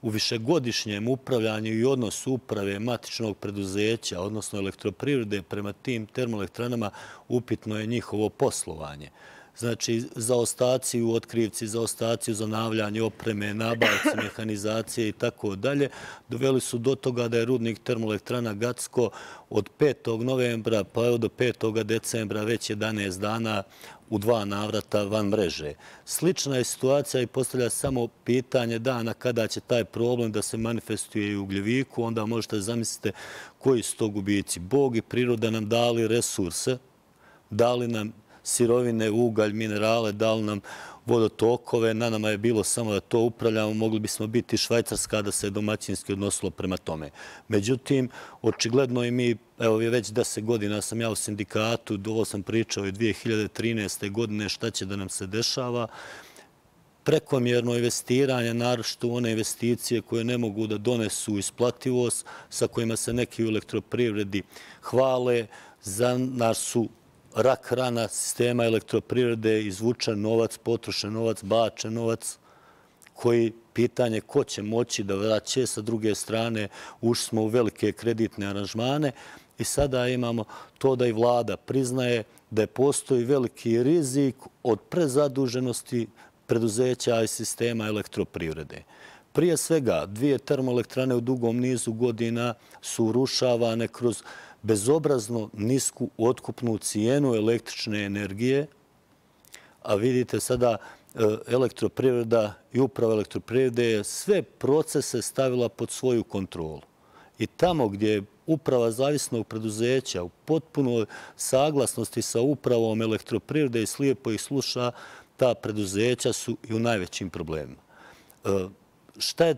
U višegodišnjem upravljanju i odnosu uprave matičnog preduzeća, odnosno elektroprivrede prema tim termoelektranama, upitno je njihovo poslovanje. Znači, zaostaci u otkrivci, zaostaci u zanavljanju opreme, nabavci, mehanizacije i tako dalje, doveli su do toga da je rudnik termoelektrana Gacko od 5. novembra pa do 5. decembra već 11 dana u 2 navrata van mreže. Slična je situacija i postavlja samo pitanje dana kada će taj problem da se manifestuje i u Ugljeviku, onda možete zamisliti koji su to gubici. Bog i priroda nam dali resurse, dali nam sirovine, ugalj, minerale, dali nam vodotokove, na nama je bilo samo da to upravljamo, mogli bismo biti Švajcarska da se domaćinski odnosilo prema tome. Međutim, očigledno i mi, evo je već 10 godina sam ja u sindikatu, ovo sam pričao i 2013. godine šta će da nam se dešava, prekomjerno investiranje, naročito one investicije koje ne mogu da donesu isplativost, sa kojima se neki u elektroprivredi hvale, za nas su rak rana sistema elektroprivrede, izvučen novac, potrošen novac, bačen novac, koji pitanje ko će moći da vraće. Sa druge strane, ušli smo u velike kreditne aranžmane i sada imamo to da i vlada priznaje da postoji veliki rizik od prezaduženosti preduzeća i sistema elektroprivrede. Prije svega, 2 termoelektrane u dugom nizu godina su urušavane kroz bezobrazno nisku otkupnu cijenu električne energije, a vidite sada elektroprivreda i uprava elektroprivrede je sve procese stavila pod svoju kontrolu. I tamo gdje je uprava zavisnog preduzeća u potpunoj saglasnosti sa upravom elektroprivrede i slijepo ih sluša, ta preduzeća su i u najvećim problemima. Šta je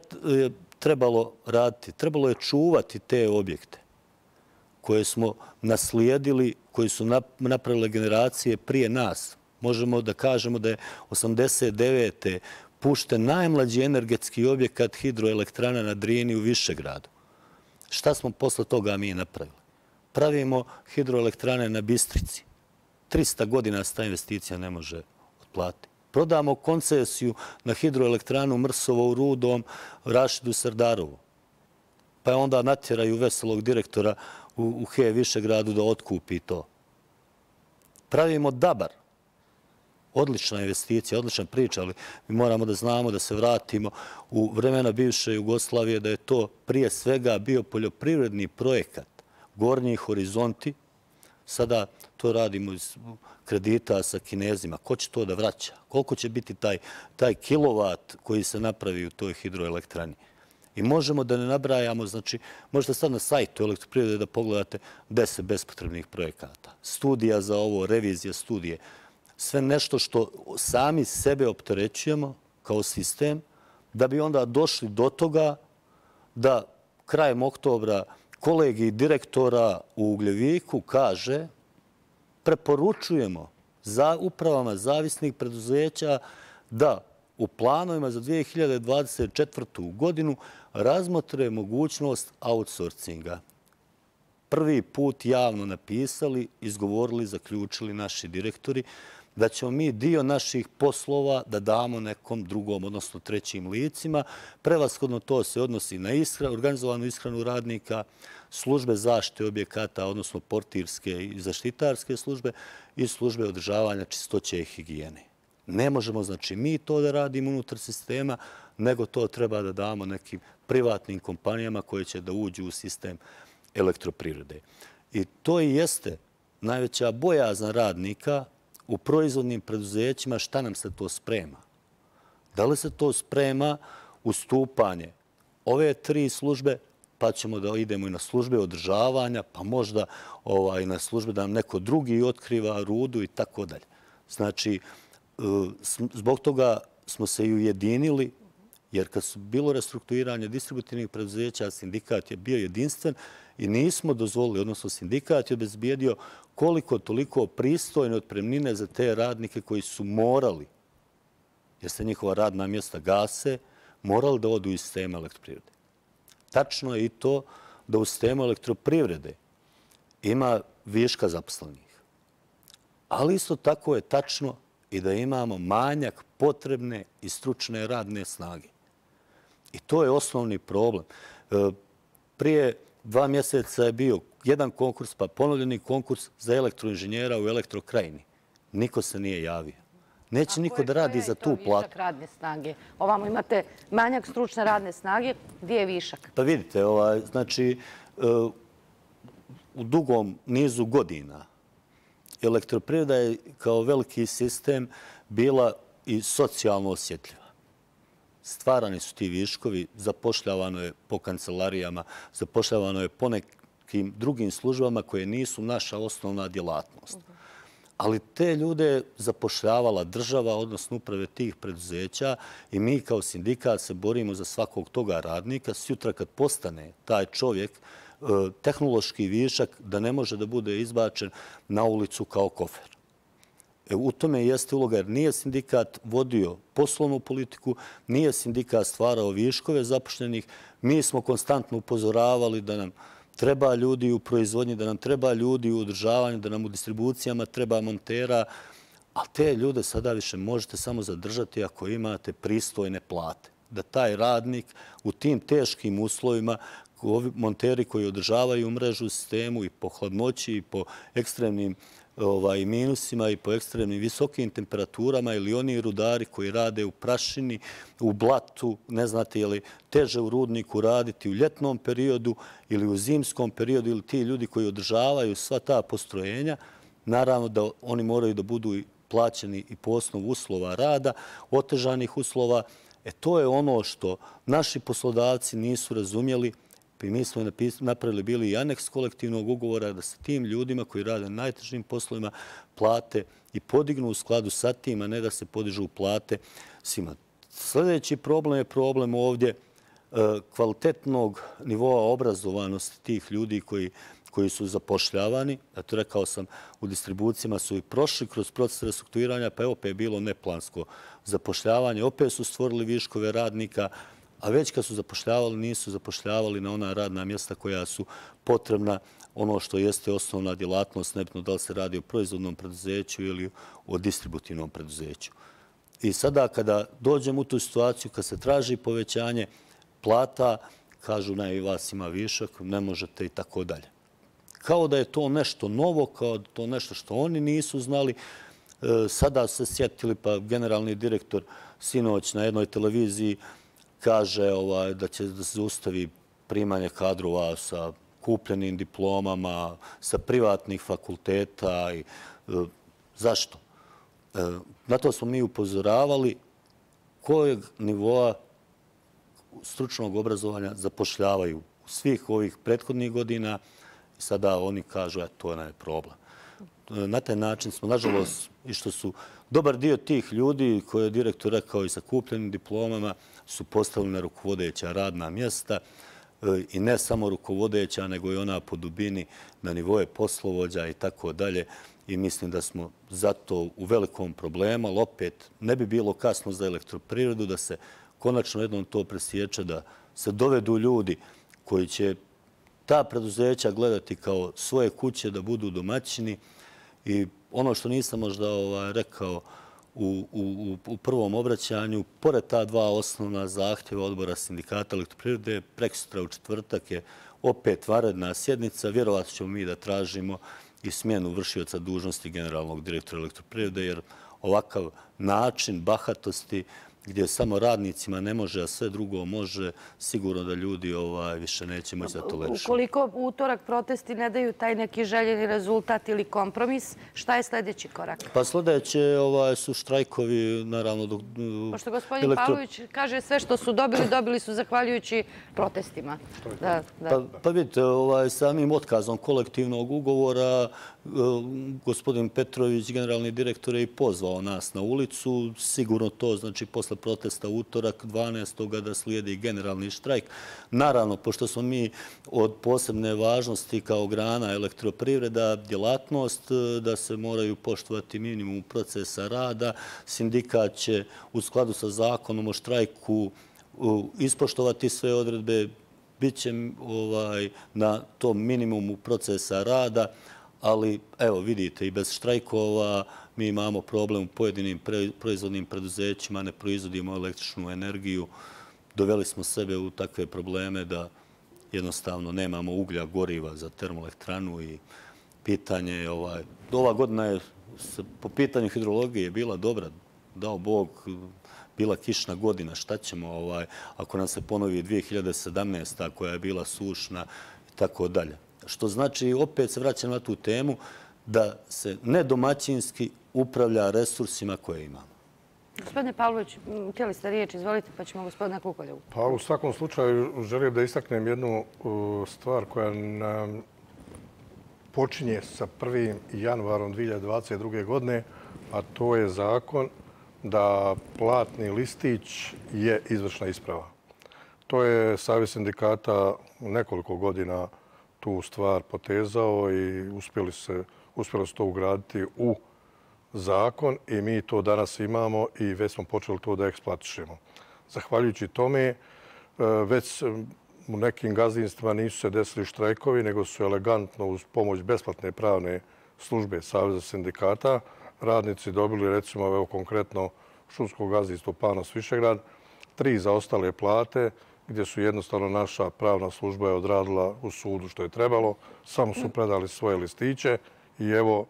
trebalo raditi? Trebalo je čuvati te objekte koje smo naslijedili, koji su napravile generacije prije nas. Možemo da kažemo da je 89. pušten najmlađi energetski objekat hidroelektrana na Drini u Višegradu. Šta smo posle toga mi napravili? Pravimo hidroelektrane na Bistrici. 300 godina se ta investicija ne može otplatiti. Prodamo koncesiju na hidroelektranu Mrsovo u Rudom Rašidu Sardarovu. Pa onda natjeraju veselog direktora u HE Višegradu da otkupi to. Pravimo Dabar. Odlična investicija, odlična priča, ali mi moramo da znamo da se vratimo u vremena bivše Jugoslavije, da je to prije svega bio poljoprivredni projekat. Gornji horizonti, sada to radimo iz kredita sa Kinezima. Ko će to da vraća? Koliko će biti taj kilovat koji se napravi u toj hidroelektrani? I možemo da ne nabrajamo, znači, možete sad na sajtu elektroprivrede da pogledate 10 bespotrebnih projekata. Studija za ovo, revizija studije. Sve nešto što sami sebe opterećujemo kao sistem, da bi onda došli do toga da krajem oktobra kolegij direktora u Ugljeviku kaže preporučujemo za upravama zavisnih preduzeća da u planovima za 2024. godinu razmotre mogućnost outsourcinga. Prvi put javno napisali, izgovorili, zaključili naši direktori da ćemo mi dio naših poslova da damo nekom drugom, odnosno trećim licima. Prevashodno to se odnosi na organizovanu ishranu radnika, službe zaštite objekata, odnosno portirske i zaštitarske službe i službe održavanja čistoće i higijene. Ne možemo, znači, mi to da radimo unutar sistema, nego to treba da damo nekim privatnim kompanijama koje će da uđu u sistem elektroprivrede. I to i jeste najveća bojazna radnika u proizvodnim preduzećima, šta nam se to sprema. Da li se to sprema ustupanje ove 3 službe, pa ćemo da idemo i na službe održavanja, pa možda i na službe da nam neko drugi otkriva rudu i tako dalje. Znači, zbog toga smo se i ujedinili, jer kad su bilo restrukturiranje distributivnih preduzeća, sindikat je bio jedinstven i nismo dozvolili, odnosno sindikat je obezbijedio koliko toliko pristojne otpremnine za te radnike koji su morali, jer se njihova radna mjesta gase, morali da odu iz sistema elektroprivrede. Tačno je i to da u sistemu elektroprivrede ima viška zaposlenih. Ali isto tako je tačno i da imamo manjak potrebne i stručne radne snage. I to je osnovni problem. Prije 2 mjeseca je bio jedan konkurs, pa ponovljeni konkurs za elektroinženjera u Elektrokrajini. Niko se nije javio. Neće niko da radi za tu platu. Višak radne snage. Ovamo imate manjak stručne radne snage. Gdje je višak? Pa vidite, znači, u dugom nizu godina elektroprivreda je kao veliki sistem bila i socijalno osjetljiva. Stvarani su ti viškovi, zapošljavano je po kancelarijama, zapošljavano je po nekim drugim službama koje nisu naša osnovna djelatnost. Ali te ljude je zapošljavala država, odnosno uprave tih preduzeća i mi kao sindikat se borimo za svakog toga radnika. Sutra kad postane taj čovjek tehnološki višak da ne može da bude izbačen na ulicu kao kofer. U tome jeste uloga jer nije sindikat vodio poslovnu politiku, nije sindikat stvarao viškove zapošljenih. Mi smo konstantno upozoravali da nam treba ljudi u proizvodnji, da nam treba ljudi u održavanju, da nam u distribucijama treba montera, a te ljude sada više možete samo zadržati ako imate pristojne plate. Da taj radnik u tim teškim uslovima, monteri koji održavaju mrežu u sistemu i po hladnoći i po ekstremnim minusima i po ekstremnim visokim temperaturama ili oni rudari koji rade u prašini, u blatu, ne znate je li teže u rudniku raditi u ljetnom periodu ili u zimskom periodu ili ti ljudi koji održavaju sva ta postrojenja, naravno da oni moraju da budu plaćeni i po osnovu uslova rada, otežanih uslova. To je ono što naši poslodavci nisu razumjeli. Mi smo napravili bili i aneks kolektivnog ugovora da se tim ljudima koji rade na najtežim poslovima plate i podignu u skladu sa tim, a ne da se podižu plate svima. Sljedeći problem je problem ovdje kvalitetnog nivoa obrazovanosti tih ljudi koji su zapošljavani. Eto, rekao sam, u distribucijama su i prošli kroz proces restrukturiranja, pa opet je bilo neplansko zapošljavanje. Opet su stvorili viškove radnika, a već kad su zapošljavali, nisu zapošljavali na ona radna mjesta koja su potrebna, ono što jeste osnovna djelatnost, nebitno da li se radi o proizvodnom preduzeću ili o distributivnom preduzeću. I sada kada dođem u tu situaciju, kad se traži povećanje plata, kažu ne, vas ima višak, ne možete i tako dalje. Kao da je to nešto novo, kao da je to nešto što oni nisu znali. Sada se sjetili, pa generalni direktor sinoć na jednoj televiziji kaže da će da se ustavi primanje kadrova sa kupljenim diplomama, sa privatnih fakulteta. Zašto? Na to smo mi upozoravali kojeg nivoa stručnog obrazovanja zapošljavaju u svih ovih prethodnih godina. Sada oni kažu, to je problem. Na taj način smo, nažalost, i što su dobar dio tih ljudi, koje je direktor rekao i sa kupljenim diplomama, su postavili na rukovodeća radna mjesta i ne samo rukovodeća, nego i ona po dubini na nivoje poslovođa i tako dalje. I mislim da smo zato u velikom problemu, ali opet ne bi bilo kasno za elektroprivredu da se konačno jednom to presječe, da se dovedu ljudi koji će ta preduzeća gledati kao svoje kuće, da budu domaćini. I ono što nisam možda rekao u prvom obraćanju, pored ta dva osnovna zahtjeva odbora sindikata elektroprivrede, prekosutra u četvrtak je opet vanredna sjednica. Vjerovatno ćemo mi da tražimo i smjenu vršioca dužnosti generalnog direktora elektroprivrede, jer ovakav način bahatosti gdje samo radnicima ne može, a sve drugo može, sigurno da ljudi više neće moći da tolerišu. Ukoliko u utorak protesti ne daju taj neki željeni rezultat ili kompromis, šta je sljedeći korak? Pa sljedeće su štrajkovi, naravno. Pošto gospodin Pavlović kaže sve što su dobili, dobili su zahvaljujući protestima. Pa vidite, samim otkazom kolektivnog ugovora gospodin Petrović, generalni direktor, je i pozvao nas na ulicu. Sigurno to znači posle protesta utorak 12. da slijedi generalni štrajk. Naravno, pošto smo mi od posebne važnosti kao grana elektroprivreda djelatnost, da se moraju poštovati minimum procesa rada, sindikat će u skladu sa zakonom o štrajku ispoštovati sve odredbe. bit će na tom minimumu procesa rada, ali evo vidite i bez štrajkova mi imamo problem u pojedinim proizvodnim preduzećima, ne proizvodimo električnu energiju, doveli smo sebe u takve probleme da jednostavno nemamo uglja, goriva za termoelektranu i pitanje je ova godina je po pitanju hidrologije bila dobra, dao Bog, bila kišna godina, šta ćemo ako nam se ponovi 2017. koja je bila sušna i tako dalje. Što znači, opet se vraćam na tu temu, da se nedomaćinski upravlja resursima koje imamo. Gospodine Pavlović, htjeli ste riječ, izvolite, pa ćemo gospodina Kukoljevu. Pa u svakom slučaju želim da istaknem jednu stvar koja nam počinje sa 1. januarom 2022. godine, a to je zakon da platni listić je izvršna isprava. To je Savez sindikata nekoliko godina tu stvar potezao i uspjelo se to ugraditi u zakon i mi to danas imamo i već smo počeli to da eksploatišemo. Zahvaljujući tome, već u nekim gazdinstvima nisu se desili štrajkovi, nego su elegantno uz pomoć besplatne pravne službe Saveza sindikata radnici dobili, recimo, evo konkretno šumsko gazdinstvo Panos Višegrad, 3 zaostale plate, gdje su jednostavno naša pravna služba je odradila u sudu što je trebalo, samo su predali svoje listiće i evo,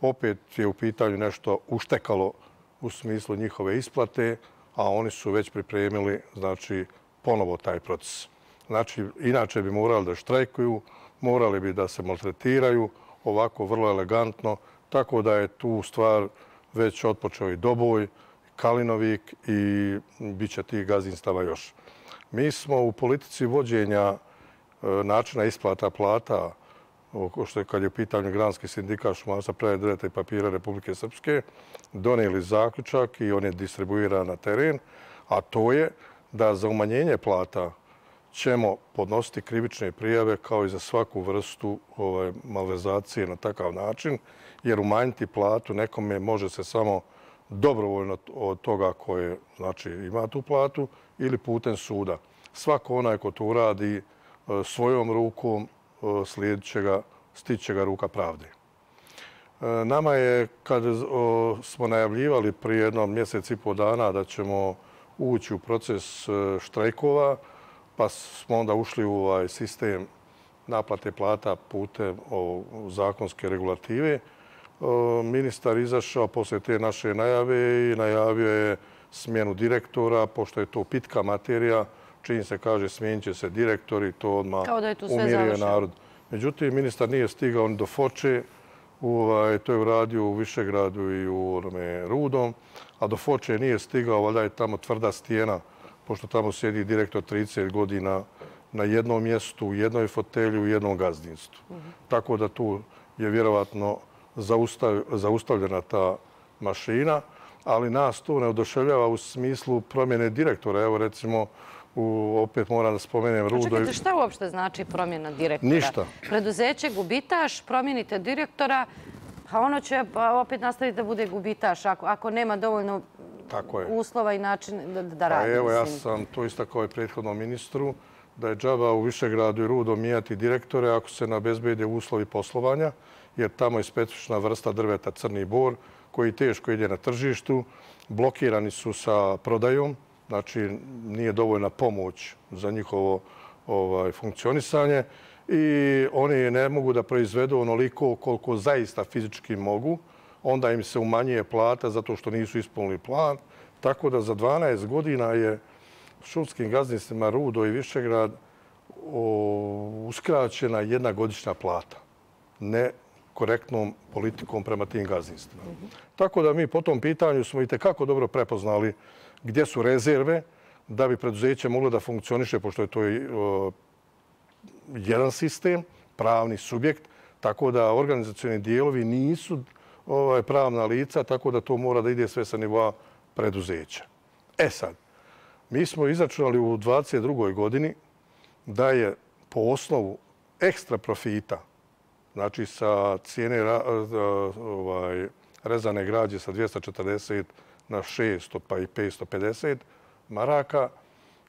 opet je u pitanju nešto uštekalo u smislu njihove isplate, a oni su već pripremili, znači, ponovo taj proces. Znači, inače bi morali da štrajkuju, morali bi da se maltretiraju, ovako vrlo elegantno, tako da je tu stvar već otpočeo i Doboj, Kalinovik i bit će tih gazdinstava još. Mi smo u politici vođenja načina isplata plata, što je kad je u pitanju Granski sindikat šumarstva, prerade drveta i papira Republike Srpske, donijeli zaključak i on je distribuiran na teren, a to je da za umanjenje plata ćemo podnositi krivične prijave kao i za svaku vrstu malverzacije na takav način, jer umanjiti platu nekome može se samo dobrovoljno od toga koje ima tu platu ili putem suda. Svako onaj ko to uradi svojom rukom stići će ga ruka pravde. Nama je, kad smo najavljivali prije jednom mjesec i pol dana da ćemo ući u proces štrajkova, pa smo onda ušli u ovaj sistem naplate plata putem zakonske regulative, ministar izašao poslije te naše najave i najavio je smjenu direktora, pošto je to pitka materija, čim se kaže smijenit će se direktori, to odmah umirio narod. Međutim, ministar nije stigao ni do Foče, to je uradio u Višegradu i u Rudom, a do Foče nije stigao, valjda je tamo tvrda stijena, pošto tamo sjedi direktor 30 godina na jednom mjestu, u jednoj fotelju, u jednom gazdinstvu. Tako da tu je vjerovatno zaustavljena ta mašina, ali nas to ne oduševljava u smislu promjene direktora. Evo recimo, opet moram da spomenem Rudo. Čekajte, šta uopšte znači promjena direktora? Ništa. Preduzeće gubitaš, promijenite direktora, a ono će opet nastaviti da bude gubitaš ako nema dovoljno uslova i način da radi. Evo, ja sam to istakao i prethodnom ministru, da je džaba u Višegradu i Rudo mijenjati direktore ako se ne obezbede uslovi poslovanja, jer tamo je specifična vrsta drveta Crni bor, koji teško ide na tržištu, blokirani su sa prodajom, znači nije dovoljna pomoć za njihovo funkcionisanje i oni ne mogu da proizvedu onoliko koliko zaista fizički mogu, onda im se umanjuje plata zato što nisu ispunili plan, tako da za 12 godina je šumskim gazdinstvima Rudo i Višegrad uskraćena 1 godišnja plata. Ne korektnom politikom prema tim gazdinstvima. Tako da mi po tom pitanju smo i tekako dobro prepoznali gdje su rezerve da bi preduzeće moglo da funkcioniše, pošto je to jedan sistem, pravni subjekt, tako da organizacioni dijelovi nisu pravna lica, tako da to mora da ide sve sa nivoa preduzeća. E sad, mi smo izračunali u 2022. godini da je po osnovu ekstra profita, znači sa cijene rezane građe sa 240 na 600 pa i 550 maraka,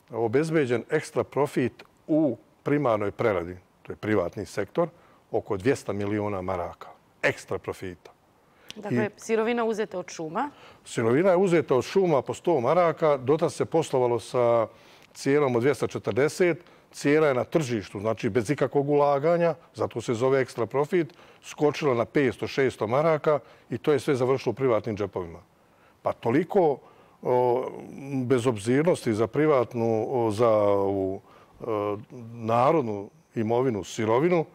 obezbeđen ekstra profit u primarnoj preradi, to je privatni sektor, oko 200 miliona maraka ekstra profita. Dakle, sirovina uzeta od šuma? Sirovina je uzeta od šuma po 100 maraka, dotad se poslovalo sa cijenom od 240, cijena je na tržištu, znači bez ikakvog ulaganja, zato se zove ekstra profit, skočila na 500-600 maraka i to je sve završilo u privatnim džepovima. Pa toliko bezobzirnosti za privatnu, za narodnu imovinu, sirovinu,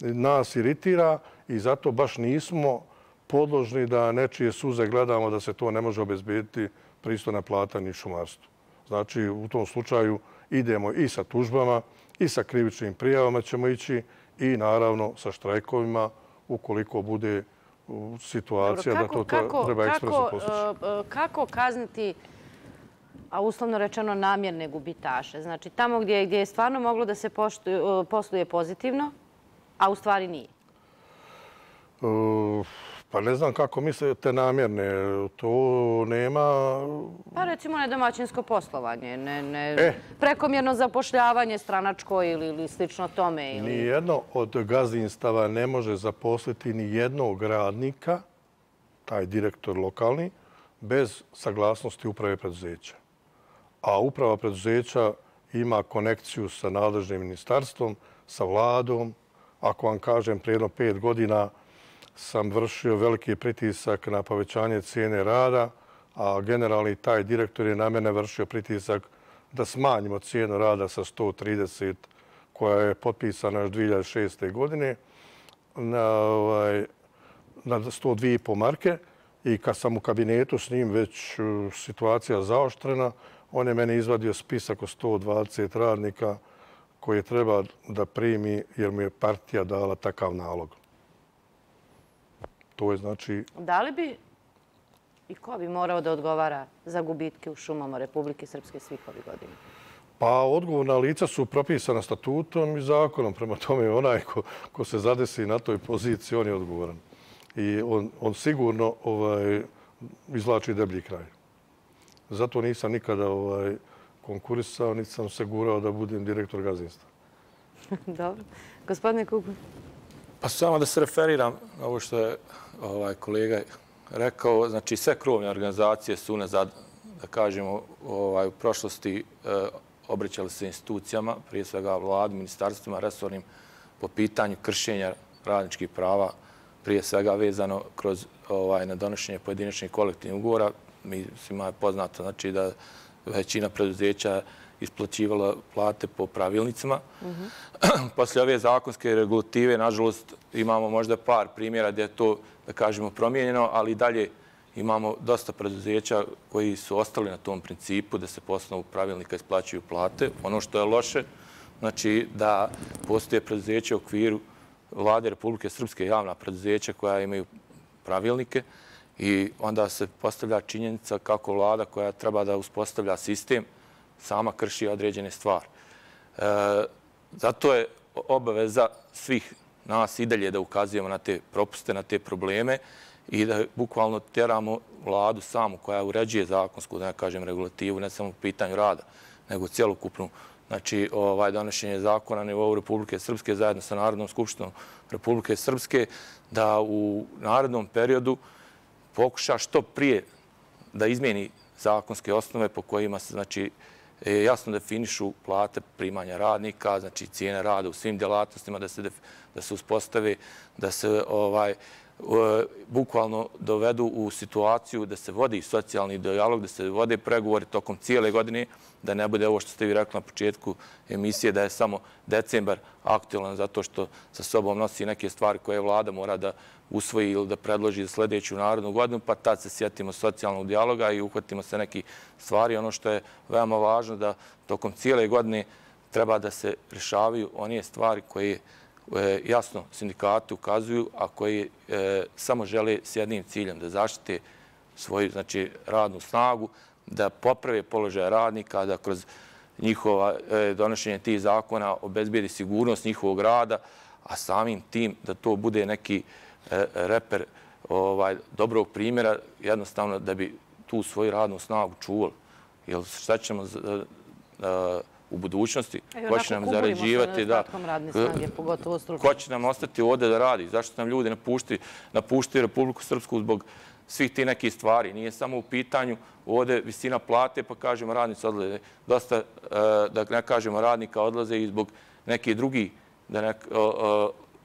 nas iritira i zato baš nismo podložni da nečije suze gledamo da se to ne može obezbediti pristojna plata ni šumarstvu. Znači, u tom slučaju idemo i sa tužbama i sa krivičnim prijavama ćemo ići i naravno sa štrajkovima ukoliko bude situacija da to treba ekspresno postići. Kako kazniti, a uslovno rečeno, namjerne gubitaše? Znači, tamo gdje je stvarno moglo da se posluje pozitivno, a u stvari nije? Pa ne znam kako mislite namjerne. To nema... Pa recimo nedomaćinsko poslovanje, prekomjerno zapošljavanje stranačko ili slično tome. Nijedno od gazdinstava ne može zaposliti ni jednog radnika, taj direktor lokalni, bez saglasnosti uprave preduzeća. A uprava preduzeća ima konekciju sa nadležnim ministarstvom, sa vladom. Ako vam kažem, prije 5 godina sam vršio veliki pritisak na povećanje cijene rada, a generalni taj direktor je na mene vršio pritisak da smanjimo cijenu rada sa 130, koja je potpisana još 2006. godine, na 102,5 marke. I kad sam u kabinetu s njim već situacija zaoštrena, on je meni izvadio spisak od 120 radnika koje treba da primi jer mu je partija dala takav nalog. To je znači... Da li bi i ko bi morao da odgovara za gubitke u šumama Republike Srpske svih ovih godina? Pa odgovorna lica su propisana statutom i zakonom. Prema tome, onaj ko se zadesi na toj poziciji, on je odgovoran. I on sigurno izvlači deblji kraj. Zato nisam nikada konkurisao, niti sam se gurao da budem direktor gazdinstva. Dobro. Gospodine Kugun. Pa samo da se referiram na ovo što je kolega rekao. Znači, sve krovne organizacije su unazad, da kažemo, u prošlosti obraćali se institucijama, prije svega vladi, ministarstvima, resornim, po pitanju kršenja radničkih prava, prije svega vezano kroz na donošenje pojedinačnih kolektivnih ugovora. Svima je poznato znači, da većina preduzeća isplaćivala plate po pravilnicima. Poslije ove zakonske regulative, nažalost, imamo možda par primjera gdje je to, da kažemo, promijenjeno, ali i dalje imamo dosta preduzeća koji su ostali na tom principu da se po osnovu pravilnika isplaćuju plate. Ono što je loše, znači da postoje preduzeće u okviru Vlade Republike Srpske, javna preduzeća koja imaju pravilnike i onda se postavlja činjenica kako vlada koja treba da uspostavlja sistem sama krši određene stvari. Zato je obaveza svih nas i dalje da ukazujemo na te propuste, na te probleme i da bukvalno teramo vladu samu koja uređuje zakonsku, da ne kažem, regulativu, ne samo u pitanju rada, nego cjelokupnu. Znači, donošenje zakona na nivou Republike Srpske zajedno sa Narodnom skupštinom Republike Srpske da u narednom periodu pokuša što prije da izmijeni zakonske osnove po kojima se znači, jasno definišu plate primanja radnika, znači cijene rada u svim djelatnostima, da se uspostave, da se bukvalno dovedu u situaciju da se vodi socijalni dijalog, da se vode pregovori tokom cijele godine, da ne bude ovo što ste vi rekli na početku emisije, da je samo decembar aktualan zato što sa sobom nosi neke stvari koje vlada mora da usvoji ili da predloži za sljedeću narodnu godinu, pa tad se sjetimo socijalnog dijaloga i uhvatimo se neki stvari. Ono što je veoma važno da tokom cijele godine treba da se rješavaju one stvari koje jasno sindikati ukazuju, a koji samo žele s jednim ciljem da zaštite svoju radnu snagu, da poprave položaj radnika, da kroz njihovo donošenje tih zakona obezbijedi sigurnost njihovog rada, a samim tim da to bude neki reper dobrog primjera, jednostavno da bi tu svoju radnu snagu čuvali. Jer šta ćemo u budućnosti, ko će nam zarađivati, ko će nam ostati ovdje da radi, zašto nam ljudi napuštaju Republiku Srpsku zbog svih ti nekih stvari. Nije samo u pitanju ovdje visina plate, pa kažemo radnici odlaze. Dosta, da ne kažemo, radnika odlaze i zbog nekih drugih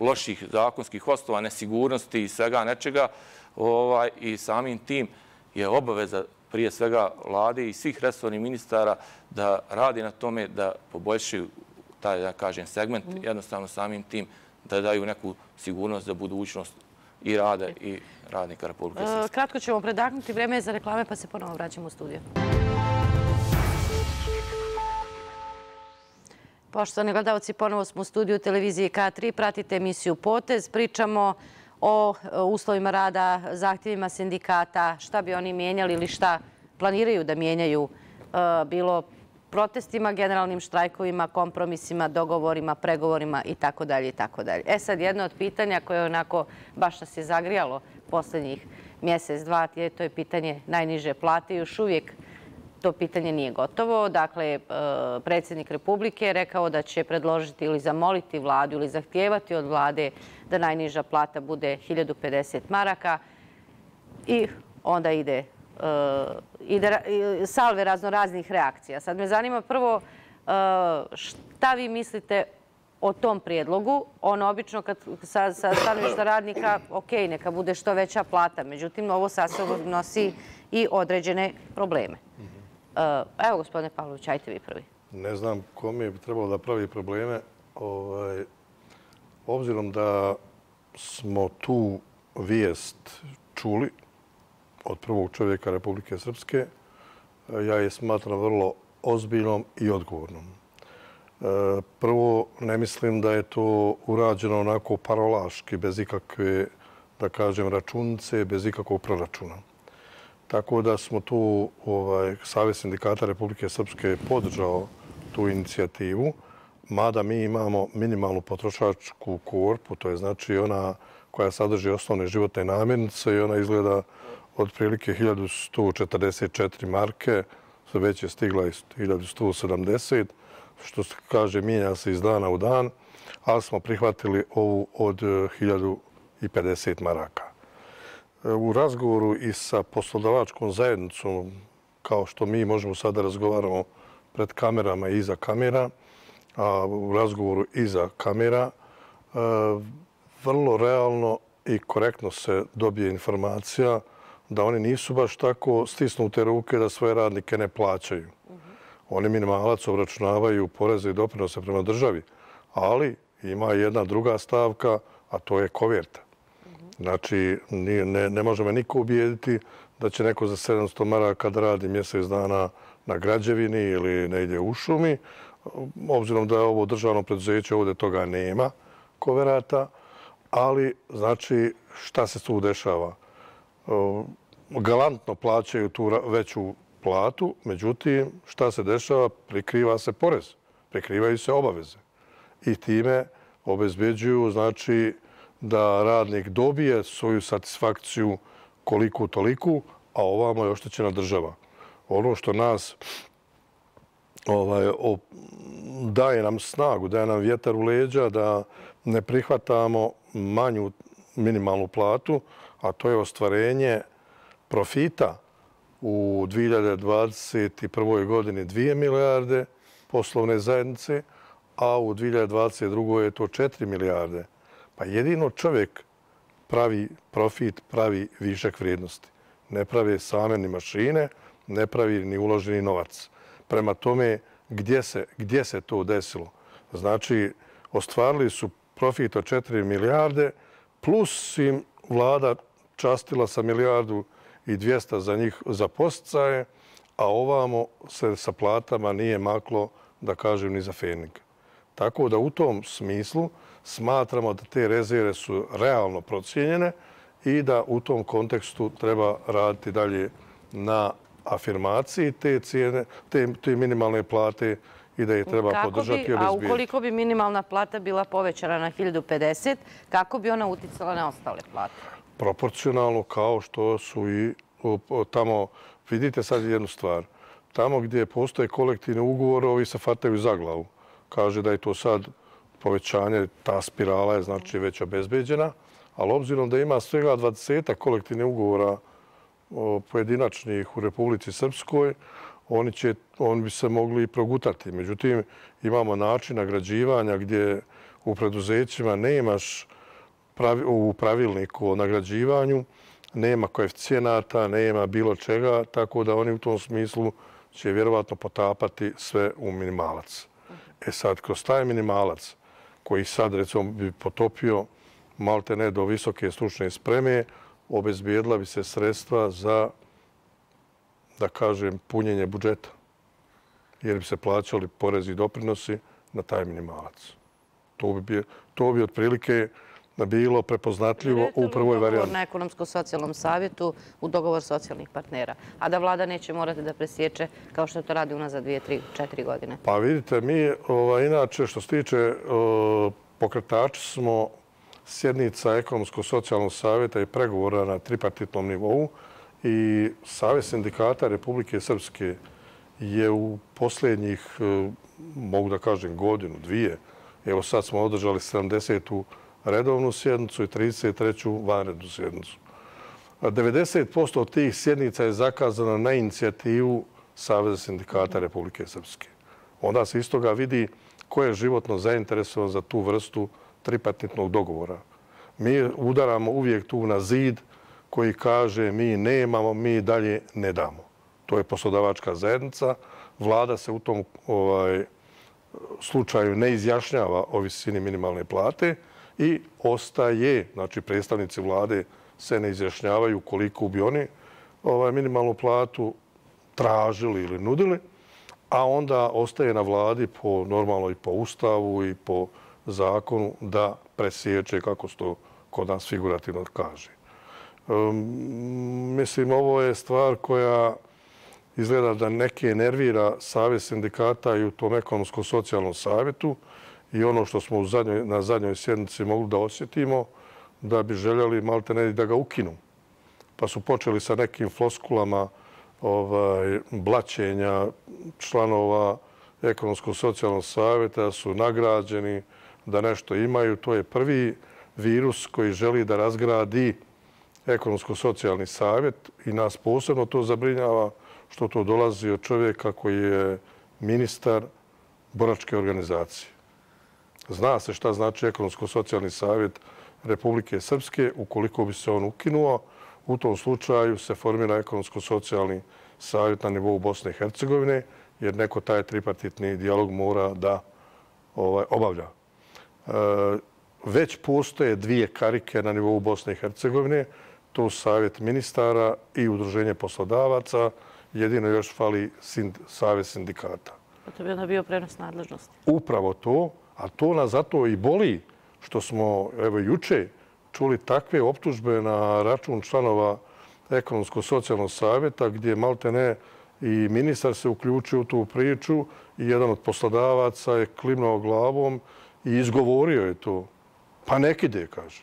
loših zakonskih osnova, nesigurnosti i svega nečega. I samim tim je obaveza prije svega vlade i svih resornih ministara da radi na tome da poboljšaju taj, da kažem, segment, jednostavno samim tim da daju neku sigurnost za budućnost i rada i radnika Republike Srpske. Kratko ćemo predahnuti, vreme je za reklame pa se ponovo vraćamo u studiju. Poštovani gledalci, ponovo smo u studiju televizije K3. Pratite emisiju Potez. Pričamo o uslovima rada, zahtjevima sindikata, šta bi oni mijenjali ili šta planiraju da mijenjaju, bilo protestima, generalnim štrajkovima, kompromisima, dogovorima, pregovorima itd. Sad, jedno od pitanja koje onako baš nas je zagrijalo posljednjih mjesec, dva, to je pitanje najniže plate. Još uvijek to pitanje nije gotovo. Dakle, predsjednik Republike je rekao da će predložiti ili zamoliti vladu ili zahtijevati od vlade da najniža plata bude 1050 maraka i onda ide salve raznoraznih reakcija. Sad me zanima prvo šta vi mislite o tom prijedlogu. Ono obično sa stanovišta radnika, ok, neka bude što veća plata. Međutim, ovo sa sobom nosi i određene probleme. Evo, gospodine Pavlović, ajte vi prvi. Ne znam kome bi trebalo da pravi probleme. Obzirom da smo tu vijest čuli od prvog čovjeka Republike Srpske, ja je smatram vrlo ozbiljnom i odgovornom. Prvo, ne mislim da je to urađeno onako parolaški, bez ikakve, da kažem, računice, bez ikakvog proračuna. Tako da smo tu, Savez sindikata Republike Srpske podržao tu inicijativu, mada mi imamo minimalnu potrošačku korpu, to je znači ona koja sadrži osnovne životne namirnice i ona izgleda otprilike 1144 marke, sve već je stigla 1170, što se kaže mijenja se iz dana u dan, ali smo prihvatili ovu od 1050 maraka. U razgovoru i sa poslodavačkom zajednicom, kao što mi možemo sada razgovaramo pred kamerama i iza kamera, a u razgovoru iza kamera, vrlo realno i korektno se dobije informacija da oni nisu baš tako stisnute ruke da svoje radnike ne plaćaju. Oni minimalac obračunavaju poreze i doprinose prema državi, ali ima jedna druga stavka, a to je koverta. Znači, ne može me niko ubijediti da će neko za 700 maraka da radi mjesec dana na građevini ili negdje u šumi. Obzirom da je ovo državno preduzeće, ovdje toga nema koverata, ali znači šta se tu dešava? Galantno plaćaju tu veću platu, međutim, šta se dešava? Prikriva se porez, prikrivaju se obaveze i time obezbeđuju, znači, da radnik dobije svoju satisfakciju koliku toliku, a ovamo je oštećena država. Ono što nas daje nam snagu, daje nam vjetar u leđa da ne prihvatamo manju minimalnu platu, a to je ostvarenje profita u 2021. godini 2 milijarde poslovne zajednice, a u 2022. je to 4 milijarde. Pa jedino čovjek pravi profit, pravi višak vrijednosti. Ne pravi same ni mašine, ne pravi ni uloženi novac. Prema tome, gdje se to desilo? Znači, ostvarili su profit od 4 milijarde, plus im vlada častila sa 1,2 milijarde za njih za podsticaje, a ovamo se sa platama nije maklo, da kažem, ni za fenika. Tako da u tom smislu smatramo da te rezerve su realno procijenjene i da u tom kontekstu treba raditi dalje na afirmaciji te cijene, te minimalne plate i da je treba podržati i obezbijediti. A ukoliko bi minimalna plata bila povećana na 1050, kako bi ona uticala na ostale plate? Proporcionalno, kao što su i tamo, vidite sad jednu stvar, tamo gdje postoje kolektivni ugovor, ovi se fataju za glavu. Kaže da je to sad povećanje, ta spirala je znači već obezbeđena, ali obzirom da ima svega 20 kolektivnih ugovora pojedinačnih u Republici Srpskoj, oni bi se mogli progutati. Međutim, imamo način nagrađivanja gdje u preduzećima nemaš u pravilniku o nagrađivanju, nema koeficijenata, nema bilo čega, tako da oni u tom smislu će vjerovatno potapati sve u minimalac. Sad, kroz taj minimalac koji sad, recimo, bi potopio malte ne do visoke stručne spreme, obezbijedila bi se sredstva za, da kažem, punjenje budžeta. Jer bi se plaćali porezi i doprinosi na taj minimalac. To bi otprilike bilo prepoznatljivo u prvoj varijanti. Dogovor na ekonomsko-socijalnom savjetu u dogovor socijalnih partnera, a da vlada neće morati da presječe kao što to radi unazad 2, 3, 4 godine. Pa vidite, mi inače što se tiče pokretači smo sjednica ekonomsko-socijalnog savjeta i pregovora na tripartitnom nivou i Savez sindikata Republike Srpske je u posljednjih, mogu da kažem, godinu, dvije, evo sad smo održali 70. redovnu sjednicu i 33. vanrednu sjednicu. 90% od tih sjednica je zakazano na inicijativu Saveza sindikata Republike Srpske. Onda se iz toga vidi ko je životno zainteresovan za tu vrstu tripartitnog dogovora. Mi udaramo uvijek tu na zid koji kaže mi nemamo, mi dalje ne damo. To je poslodavačka zajednica. Vlada se u tom slučaju ne izjašnjava o visini minimalne plate i ostaje, znači predstavnici vlade se ne izjašnjavaju koliko bi oni minimalnu platu tražili ili nudili, a onda ostaje na vladi normalno i po ustavu i po zakonu da presječe, kako se to kod nas figurativno kaže. Mislim, ovo je stvar koja izgleda da neke nervira Savez sindikata i u tom ekonomsko-socijalnom savjetu i ono što smo na zadnjoj sjednici mogli da osjetimo, da bi željeli malte ne da ga ukinu. Pa su počeli sa nekim floskulama blaćenja članova ekonomsko-socijalnog savjeta, da su nagrađeni, da nešto imaju. To je prvi virus koji želi da razgradi ekonomsko-socijalni savjet i nas posebno to zabrinjava što to dolazi od čovjeka koji je ministar boračke organizacije. Zna se šta znači ekonomsko-socijalni savjet Republike Srpske. Ukoliko bi se on ukinuo, u tom slučaju se formira ekonomsko-socijalni savjet na nivou Bosne i Hercegovine, jer neko taj tripartitni dijalog mora da obavlja. Već postoje dvije karike na nivou Bosne i Hercegovine. To su savjet ministara i udruženje poslodavaca. Jedino još fali Savez sindikata. To bi onda bio prenos nadležnosti. Upravo to, a to nas zato i boli što smo evo juče čuli takve optužbe na račun članova ekonomsko-socijalnog savjeta gdje malte ne i ministar se uključio u tu priču i jedan od poslodavaca je klimnuo glavom i izgovorio je to. Pa nek ide, kaže.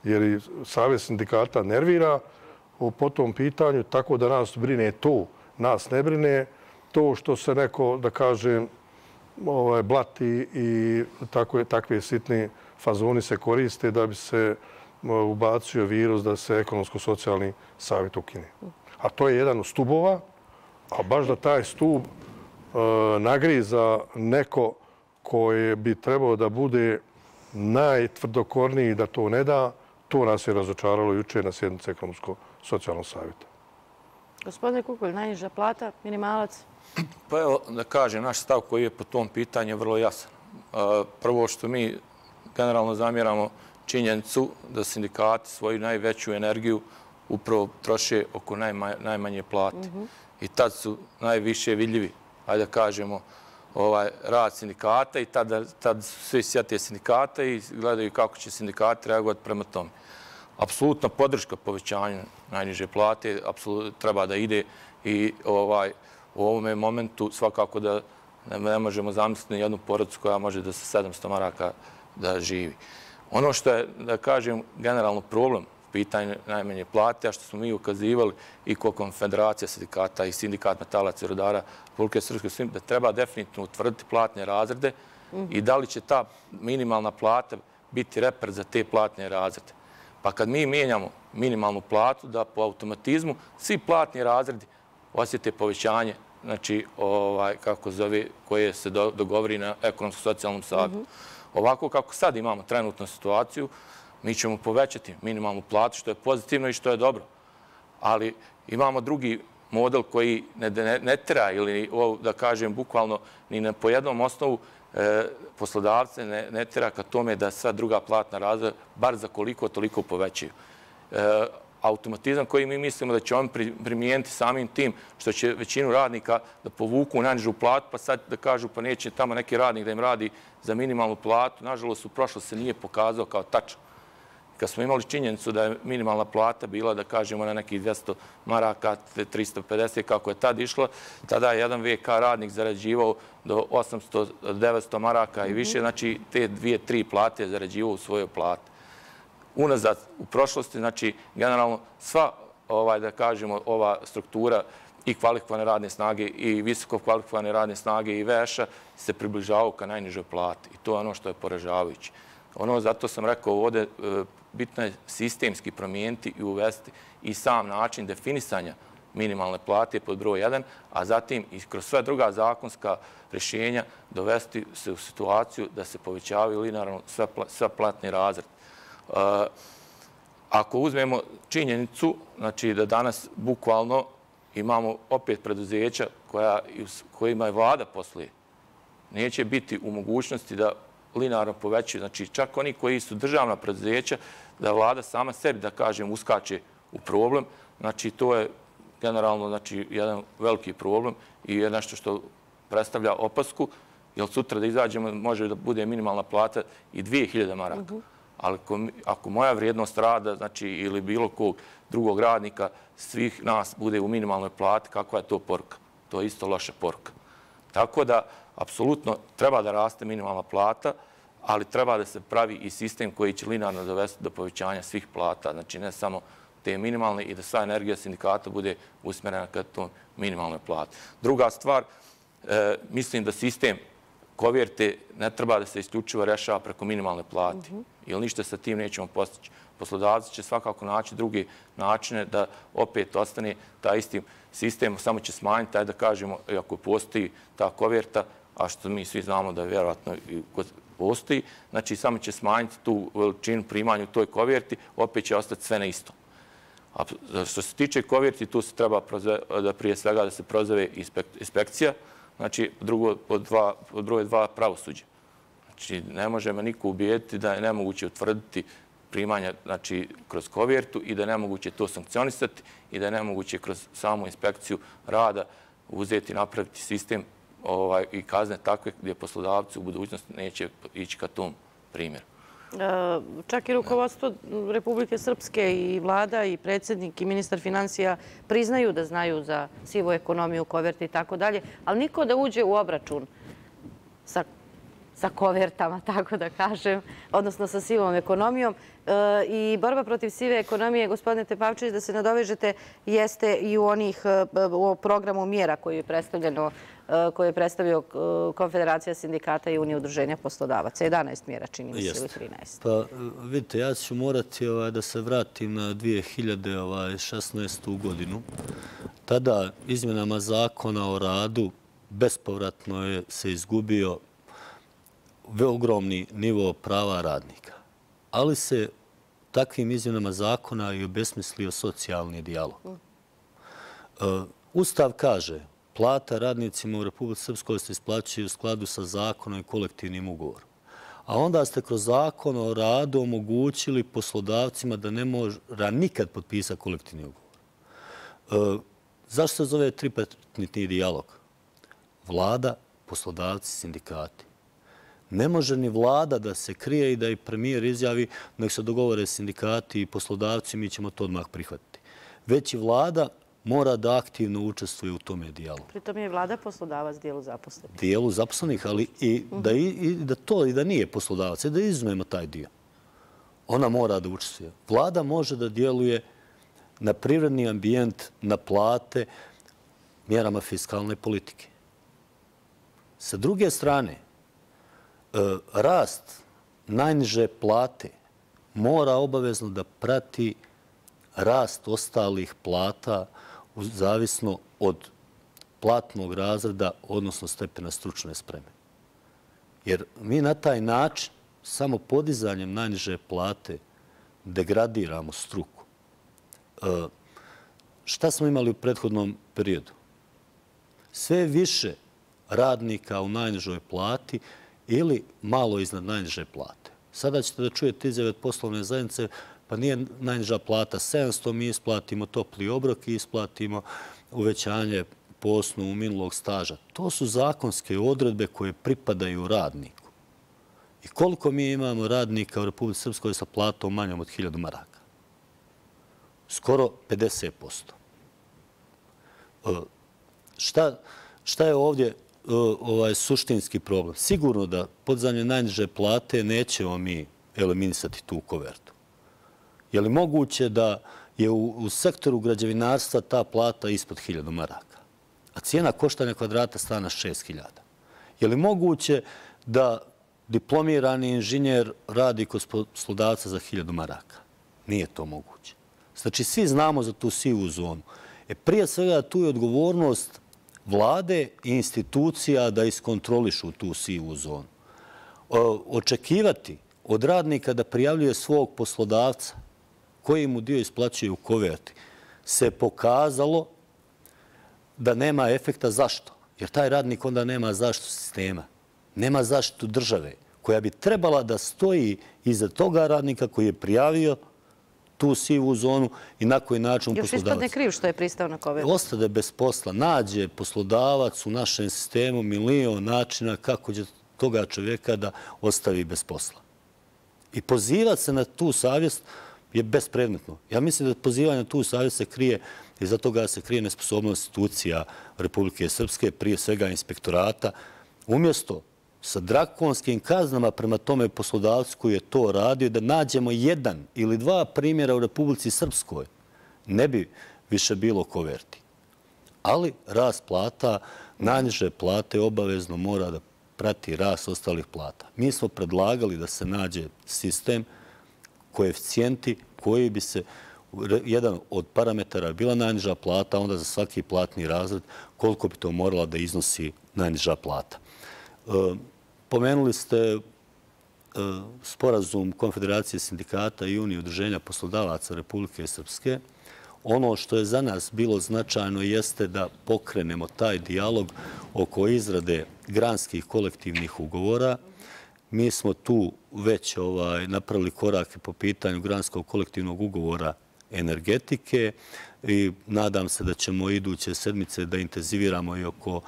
Jer i Savez sindikata nervira po tom pitanju, tako da nas brine to. Nas ne brine to što se neko, da kažem, blati i takve sitni fazoni se koriste da bi se ubacio virus da se ekonomsko-socijalni savjet ukine. A to je jedan od stubova, a baš da taj stub nagriza neko koji bi trebao da bude najtvrdokorniji da to ne da, to nas je razočaralo juče na sjednici ekonomsko-socijalnog savjeta. Gospodine Kukolj, najniža plata, minimalac? Pa evo da kažem, naš stav koji je po tom pitanju vrlo jasan. Prvo što mi generalno zamjeramo činjenicu da sindikati svoju najveću energiju upravo troše oko najmanje plate. I tad su najviše vidljivi, ajde da kažemo, rad sindikata i tad svi sjete sindikata i gledaju kako će sindikati reagovati prema tome. Apsolutna podrška povećanju najniže plate treba da ide i u ovome momentu svakako da ne možemo zamisliti jednu porodicu koja može da sa 700 maraka da živi. Ono što je, da kažem, generalno problem pitanje najmanje plate, a što smo mi ukazivali i kao Konfederacija sindikata i Sindikat metalaca i rudara Republike Srpske, da treba definitivno utvrditi platne razrede i da li će ta minimalna plata biti reper za te platne razrede. Pa kad mi mijenjamo minimalnu platu, da po automatizmu svi platni razredi osjete povećanje, znači, kako zove, koje se dogovori na ekonomsko-socijalnom savjetu. Ovako kako sad imamo trenutnu situaciju, mi ćemo povećati minimalnu platu, što je pozitivno i što je dobro. Ali imamo drugi model koji ne tera ili, da kažem, bukvalno ni po jednom osnovu poslodavce ne tera ka tome da sva druga platna razreda bar za koliko toliko povećaju. Automatizam koji mi mislimo da će on primijeniti samim tim što će većinu radnika da povuku u najnižu platu, pa sad da kažu pa neće tamo neki radnik da im radi za minimalnu platu. Nažalost, u prošlosti se nije pokazao kao tačan. Kad smo imali činjenicu da je minimalna plata bila, da kažemo, na nekih 200 maraka, 350, kako je tad išla, tada je jedan VK radnik zarađivao do 800-900 maraka i više, znači te 2-3 plate je zarađivao u svojoj plati. Unazad, u prošlosti, znači, generalno, sva, da kažemo, ova struktura i kvalifikovane radne snage i visoko kvalifikovane radne snage i veša se približavaju ka najnižoj plati. I to je ono što je poražavajuće. Zato sam rekao ovdje, bitno je sistemski promijeniti i uvesti i sam način definisanja minimalne plate pod broj 1, a zatim i kroz sve druga zakonska rješenja dovesti se u situaciju da se povećavaju linearno sve platni razred. Ako uzmemo činjenicu, znači da danas bukvalno imamo opet preduzeća kojima je vlada poslije, neće biti u mogućnosti da linearno povećaju. Znači čak oni koji su državna preduzeća, da vlada sama sebi, da kažem, uskače u problem. Znači to je generalno jedan veliki problem i je nešto što predstavlja opasku, jer sutra da izađemo može da bude minimalna plata i 2000 maraka. Ali ako moja vrijednost rada, znači, ili bilo kog drugog radnika, svih nas bude u minimalnoj plati, kakva je to poruka? To je isto loša poruka. Tako da, apsolutno, treba da raste minimalna plata, ali treba da se pravi i sistem koji će linearno dovesti do povećanja svih plata. Znači, ne samo te minimalne i da sva energija sindikata bude usmjerena ka tom minimalnoj plati. Druga stvar, mislim da sistem koverte ne treba da se isključivo rešava preko minimalne plate, jer ništa sa tim nećemo postići. Poslodavci će svakako naći druge načine da opet ostane taj isti sistem, samo će smanjiti, taj da kažemo, ako postoji ta koverta, a što mi svi znamo da vjerojatno postoji, znači samo će smanjiti tu veličinu primanja u toj koverti, opet će ostati sve na isto. A što se tiče koverti, tu se treba da prije svega da se prozove inspekcija, znači pod broj 2 pravosuđe. Znači ne možemo niko ubijediti da je nemoguće utvrditi primanja kroz kovertu i da je nemoguće to sankcionisati i da je nemoguće kroz samu inspekciju rada uzeti i napraviti sistem i kazne takve gdje poslodavci u budućnosti neće ići ka tom primjeru. Čak i rukovodstvo Republike Srpske i vlada i predsjednik i ministar financija priznaju da znaju za sivu ekonomiju, koverti i tako dalje, ali niko da uđe u obračun sa kovertama, tako da kažem, odnosno sa sivom ekonomijom. I borba protiv sive ekonomije, gospodine Tepavčević, da se nadovežete, jeste i u programu mjera koji je predstavio Konfederacija sindikata i Unije udruženja poslodavaca. 11 mjera, čini mi se, ili 13. Pa vidite, ja ću morati da se vratim na 2016. godinu. Tada izmjenama zakona o radu bespovratno je se izgubio ogromni nivo prava radnika. Ali se takvim izmjenama zakona i obesmislio socijalni dijalog. Ustav kaže plata radnicima u Republici Srpskoj se isplaćuje u skladu sa zakonom i kolektivnim ugovorom. A onda ste kroz zakon o radu omogućili poslodavcima da ne mora nikad potpisati kolektivni ugovor. Zašto se zove tripartitni dijalog? Vlada, poslodavci, sindikati. Ne može ni vlada da se krije i da i premijer izjavi nek se dogovore sindikati i poslodavci, mi ćemo to odmah prihvatiti. Već i vlada mora da aktivno učestvuje u tome dijalogu. Pritom je vlada poslodavac dijelu zaposlenih. Dijelu zaposlenih, ali i da to i da nije poslodavac, da izuzmemo taj dio. ona mora da učestvuje. Vlada može da djeluje na privredni ambijent, na plate, mjerama fiskalne politike. Sa druge strane, rast najniže plate mora obavezno da prati rast ostalih plata zavisno od platnog razreda, odnosno stepena stručne spreme. Jer mi na taj način, samo podizanjem najniže plate, degradiramo struku. Šta smo imali u prethodnom periodu? Sve više radnika u najnižoj plati ili malo iznad najniže plate. Sada ćete da čujete izjave od poslovne zajednice, pa nije najniža plata 700, mi isplatimo topli obrok i isplatimo uvećanje po osnovu minulog staža. To su zakonske odredbe koje pripadaju radniku. I koliko mi imamo radnika u Republici Srpskoj sa platom manjom od 1000 maraka? Skoro 50%. Šta je ovdje suštinski problem? Sigurno da podizanjem najniže plate nećemo mi eliminisati tu kovertu. Je li moguće da je u sektoru građevinarstva ta plata ispod 1000 maraka, a cijena koštanja kvadrata stana 6000? Je li moguće da diplomirani inženjer radi kod poslodavca za 1000 maraka? Nije to moguće. Znači, svi znamo za tu sivu zonu. Prije svega, tu je odgovornost vlade i institucija da iskontrolišu tu sivu zonu. Očekivati od radnika da prijavljuje svog poslodavca koji mu dio isplaćuje u koverti se pokazalo da nema efekta. Zašto? Jer taj radnik onda nema zaštitu sistema, nema zaštitu države koja bi trebala da stoji iza toga radnika koji je prijavio tu sivu zonu i na koji način poslodavac. Još ispadne kriv što je pristao na kovertu. Ostade bez posla. Nađe poslodavac u našem sistemu milion načina kako će toga čovjeka da ostavi bez posla. I pozivati se na tu savjest je bespredmetno. Ja mislim da pozivanje na tu savjest se krije, i za toga se krije nesposobnost institucija Republike Srpske, prije svega inspektorata, umjesto sa drakonskim kaznama prema tome poslodavcu koji je to radio, da nađemo 1 ili 2 primjera u Republici Srpskoj, ne bi više bilo koverti. Ali rast plata, najniže plate obavezno mora da prati rast ostalih plata. Mi smo predlagali da se nađe sistem, koeficijenti koji bi se, jedan od parametara bila najniža plata, onda za svaki platni razred koliko bi to morala da iznosi najniža plata. Pomenuli ste sporazum Konfederacije sindikata i Unije udruženja poslodavaca Republike Srpske. Ono što je za nas bilo značajno jeste da pokrenemo taj dijalog oko izrade granskih kolektivnih ugovora. Mi smo tu već napravili korake po pitanju granskog kolektivnog ugovora energetike i nadam se da ćemo iduće sedmice da intenziviramo i oko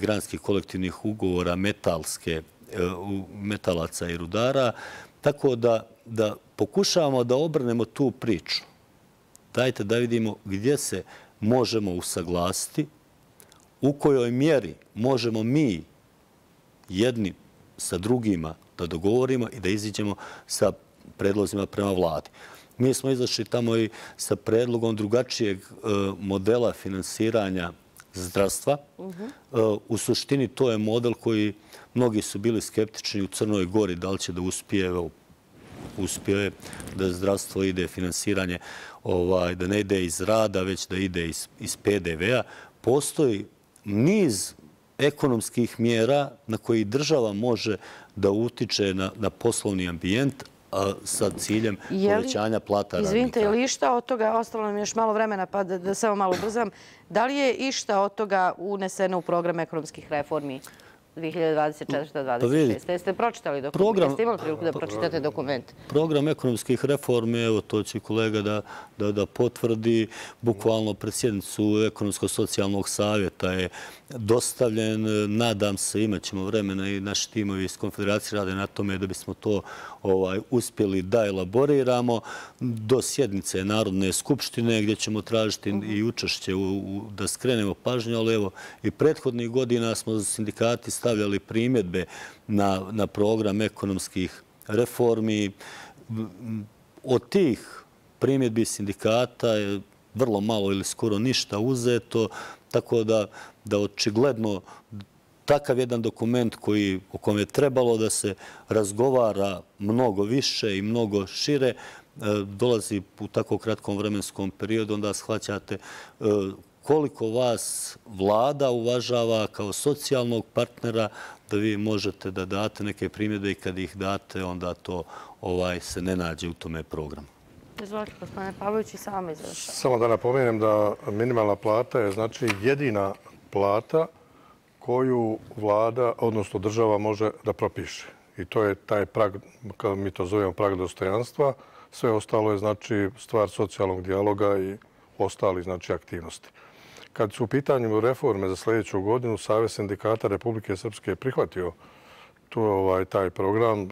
granskih kolektivnih ugovora metalaca i rudara. Tako da pokušavamo da obrnemo tu priču. Dajte da vidimo gdje se možemo usaglasiti, u kojoj mjeri možemo mi jedni sa drugima da dogovorimo i da iziđemo sa predlozima prema vladi. Mi smo izašli tamo i sa predlogom drugačijeg modela finansiranja zdravstva. U suštini to je model koji mnogi su bili skeptični u Crnoj Gori, da li će da uspije da zdravstvo ide finansiranje, da ne ide iz rada, već da ide iz PDV-a. Postoji niz ekonomskih mjera na koji država može da utiče na poslovni ambijent sa ciljem povećanja plata radnika. Izvinite, je li išta od toga, ostalo nam još malo vremena pa da samo malo ubrzam, da li je išta od toga uneseno u program ekonomskih reformi 2024-2026? Jeste pročitali dokument? Jeste imali priliku da pročitate dokument? Program ekonomskih reformi, evo to će kolega da potvrdi, bukvalno pred sjednicu Ekonomsko-socijalnog savjeta je dostavljen. Nadam se, imat ćemo vremena i naši timovi iz Konfederacije rade na tome da bismo to uspjeli da elaboriramo do sjednice Narodne skupštine gdje ćemo tražiti i učešće da skrenemo pažnju, ali evo i prethodnih godina smo sindikati stavljali primjedbe na program ekonomskih reformi od tih primjedbi sindikata je vrlo malo ili skoro ništa uzeto, tako da očigledno takav jedan dokument o kojem je trebalo da se razgovara mnogo više i mnogo šire, dolazi u tako kratkom vremenskom periodu, onda shvaćate koliko vas vlada uvažava kao socijalnog partnera, da vi možete da date neke primjedbe i kad ih date, onda to se ne nađe u tome programu. Izvolite, gospodine Pavlović, i samo izvršava. Samo da napomenem da minimalna plata je znači jedina plata koju vlada, odnosno država, može da propiše. I to je taj prag, kao mi to zovemo prag dostojanstva. Sve ostalo je znači stvar socijalnog dijaloga i ostali znači aktivnosti. Kad su u pitanju reforme za sljedeću godinu, Savez sindikata Republike Srpske je prihvatio taj program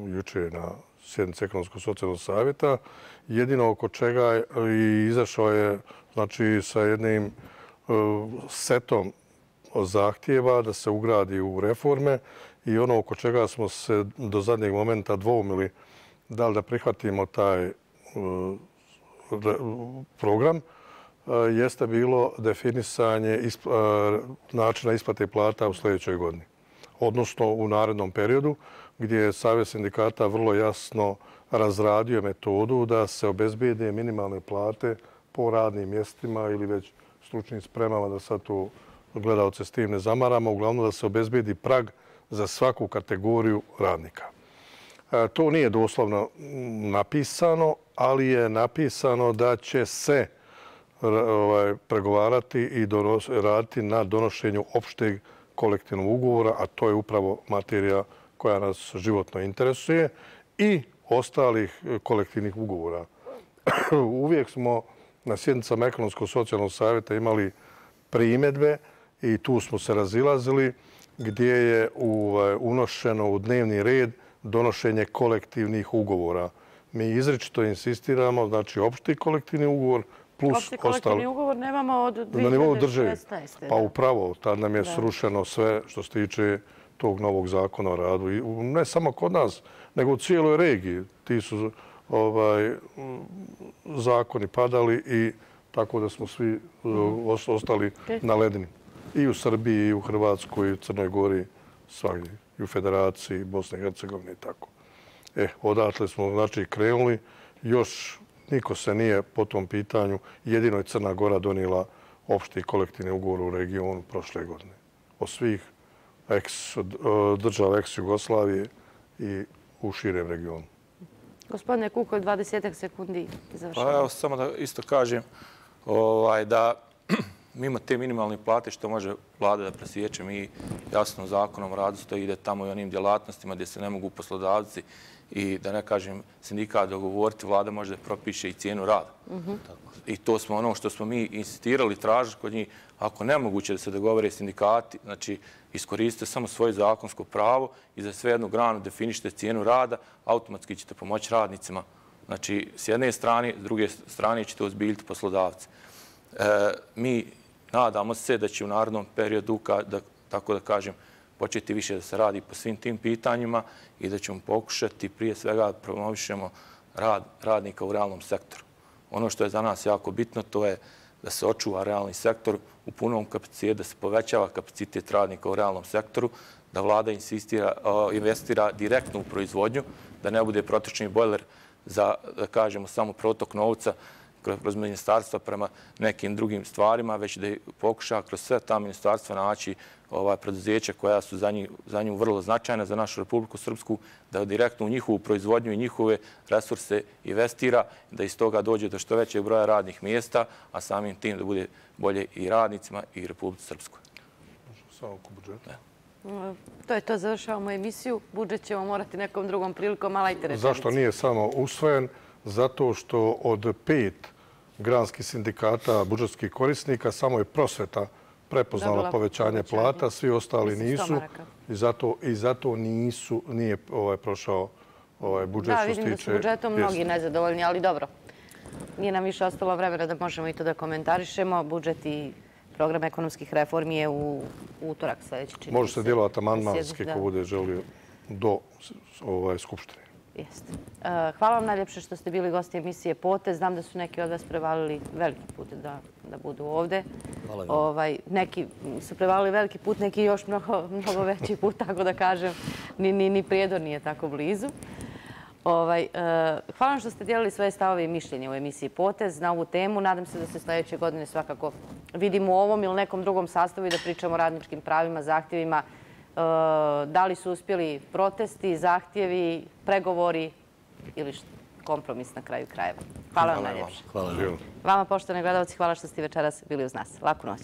juče na sjednici Ekonomsko-socijalnog savjeta. Jedino oko čega je izašao je znači sa jednim setom zahtjeva da se ugradi u reforme i ono oko čega smo se do zadnjeg momenta dvoumili da li da prihvatimo taj program, jeste bilo definisanje načina isplate plata u sljedećoj godini, odnosno u narednom periodu, gdje je Savez sindikata vrlo jasno razradio metodu da se obezbijede minimalne plate po radnim mjestima ili već stručnim spremama, da sad tu gledalce s tim ne zamaramo, uglavnom da se obezbijedi prag za svaku kategoriju radnika. To nije doslovno napisano, ali je napisano da će se pregovarati i raditi na donošenju opšteg kolektivnog ugovora, a to je upravo materija koja nas životno interesuje, i ostalih kolektivnih ugovora. Uvijek smo na sjednicama Ekonomsko-socijalnog savjeta imali primjedbe i tu smo se razilazili, gdje je unošeno u dnevni red donošenje kolektivnih ugovora. Mi izričito insistiramo, znači opšti kolektivni ugovor plus ostali. Opšti kolektivni ugovor nemamo od 2016. Na nivou države. Pa upravo, tad nam je srušeno sve što se tiče tog novog zakona o radu. I ne samo kod nas, nego u cijeloj regiji. Ti su zakoni padali i tako da smo svi ostali na ledini. I u Srbiji, i u Hrvatskoj, i u Crnoj Gori, svagdje. I u Federaciji, Bosne i Hercegovine i tako. Odatle smo znači krenuli. Još niko se nije po tom pitanju, jedino je Crna Gora donijela opšti kolektivni ugovor u regionu prošle godine. Od svih država ex-Jugoslavije i u širem regionu. Gospodine Kukolj, 20 sekundi završavamo. Pa evo, samo da isto kažem da mimo te minimalne plate što može vlada da presječe, mi jasno zakonom o radu stoji ide tamo i onim djelatnostima gdje se ne mogu poslodavci i da ne kažem sindikat dogovoriti, vlada može da propiše i cijenu rada. I to smo ono što smo mi insistirali, tražili kod njih. Ako nemoguće da se dogovore sindikati, znači iskoristite samo svoje zakonsko pravo i za sve jednu granu definišite cijenu rada, automatski ćete pomoći radnicima. Znači, s jedne strane, s druge strane ćete ozbiljiti poslodavce. Mi nadamo se da će u narednom periodu, tako da kažem, početi više da se radi po svim tim pitanjima i da ćemo pokušati prije svega promovišemo rad radnika u realnom sektoru. Ono što je za nas jako bitno, to je da se očuva realni sektor u punom kapacitetu, da se povećava kapacitet radnika u realnom sektoru, da vlada investira direktno u proizvodnju, da ne bude protočni bojler za, da kažemo, samo protok novca kroz ministarstva prema nekim drugim stvarima, već da pokuša kroz sve ta ministarstva naći preduzeća koja su za nju vrlo značajna, za našu Republiku Srpsku, da direktno u njihovu proizvodnju i njihove resurse investira, da iz toga dođe do što većeg broja radnih mjesta, a samim tim da bude bolje i radnicima i Republici Srpskoj. Samo oko budžeta. To je to, završavamo emisiju. Budžet ćemo morati nekom drugom prilikom, ali ajte rečenicu. Zašto nije samo usvojen? Zato što od 5 granskih sindikata budžetskih korisnika samo je prosveta prepoznala povećanje plata, svi ostali nisu i zato nije prošao budžet što se tiče... Da, vidim da su budžetom mnogi nezadovoljni, ali dobro. Nije nam više ostalo vremena da možemo i to da komentarišemo. Budžet i program ekonomskih reformi je u utorak sljedeći. Može se djelovati amandmanski ko bude želio do Skupštine. Jeste. Hvala vam najljepše što ste bili gosti emisije Potez. Znam da su neki od vas prevalili veliki put da budu ovde. Neki su prevalili veliki put, neki još mnogo veći put, tako da kažem. Ni Prijedor nije tako blizu. Hvala vam što ste dijelili svoje stavove i mišljenje u emisiji Potez na ovu temu. Nadam se da se sljedeće godine svakako vidimo u ovom ili nekom drugom sastavu i da pričamo o radničkim pravima, zahtjevima. Da li su uspjeli protesti, zahtjevi, pregovori ili kompromis na kraju krajeva. Hvala vam najljepše. Hvala. Vama, poštovani gledalci, hvala što ste večeras bili uz nas. Laku noć.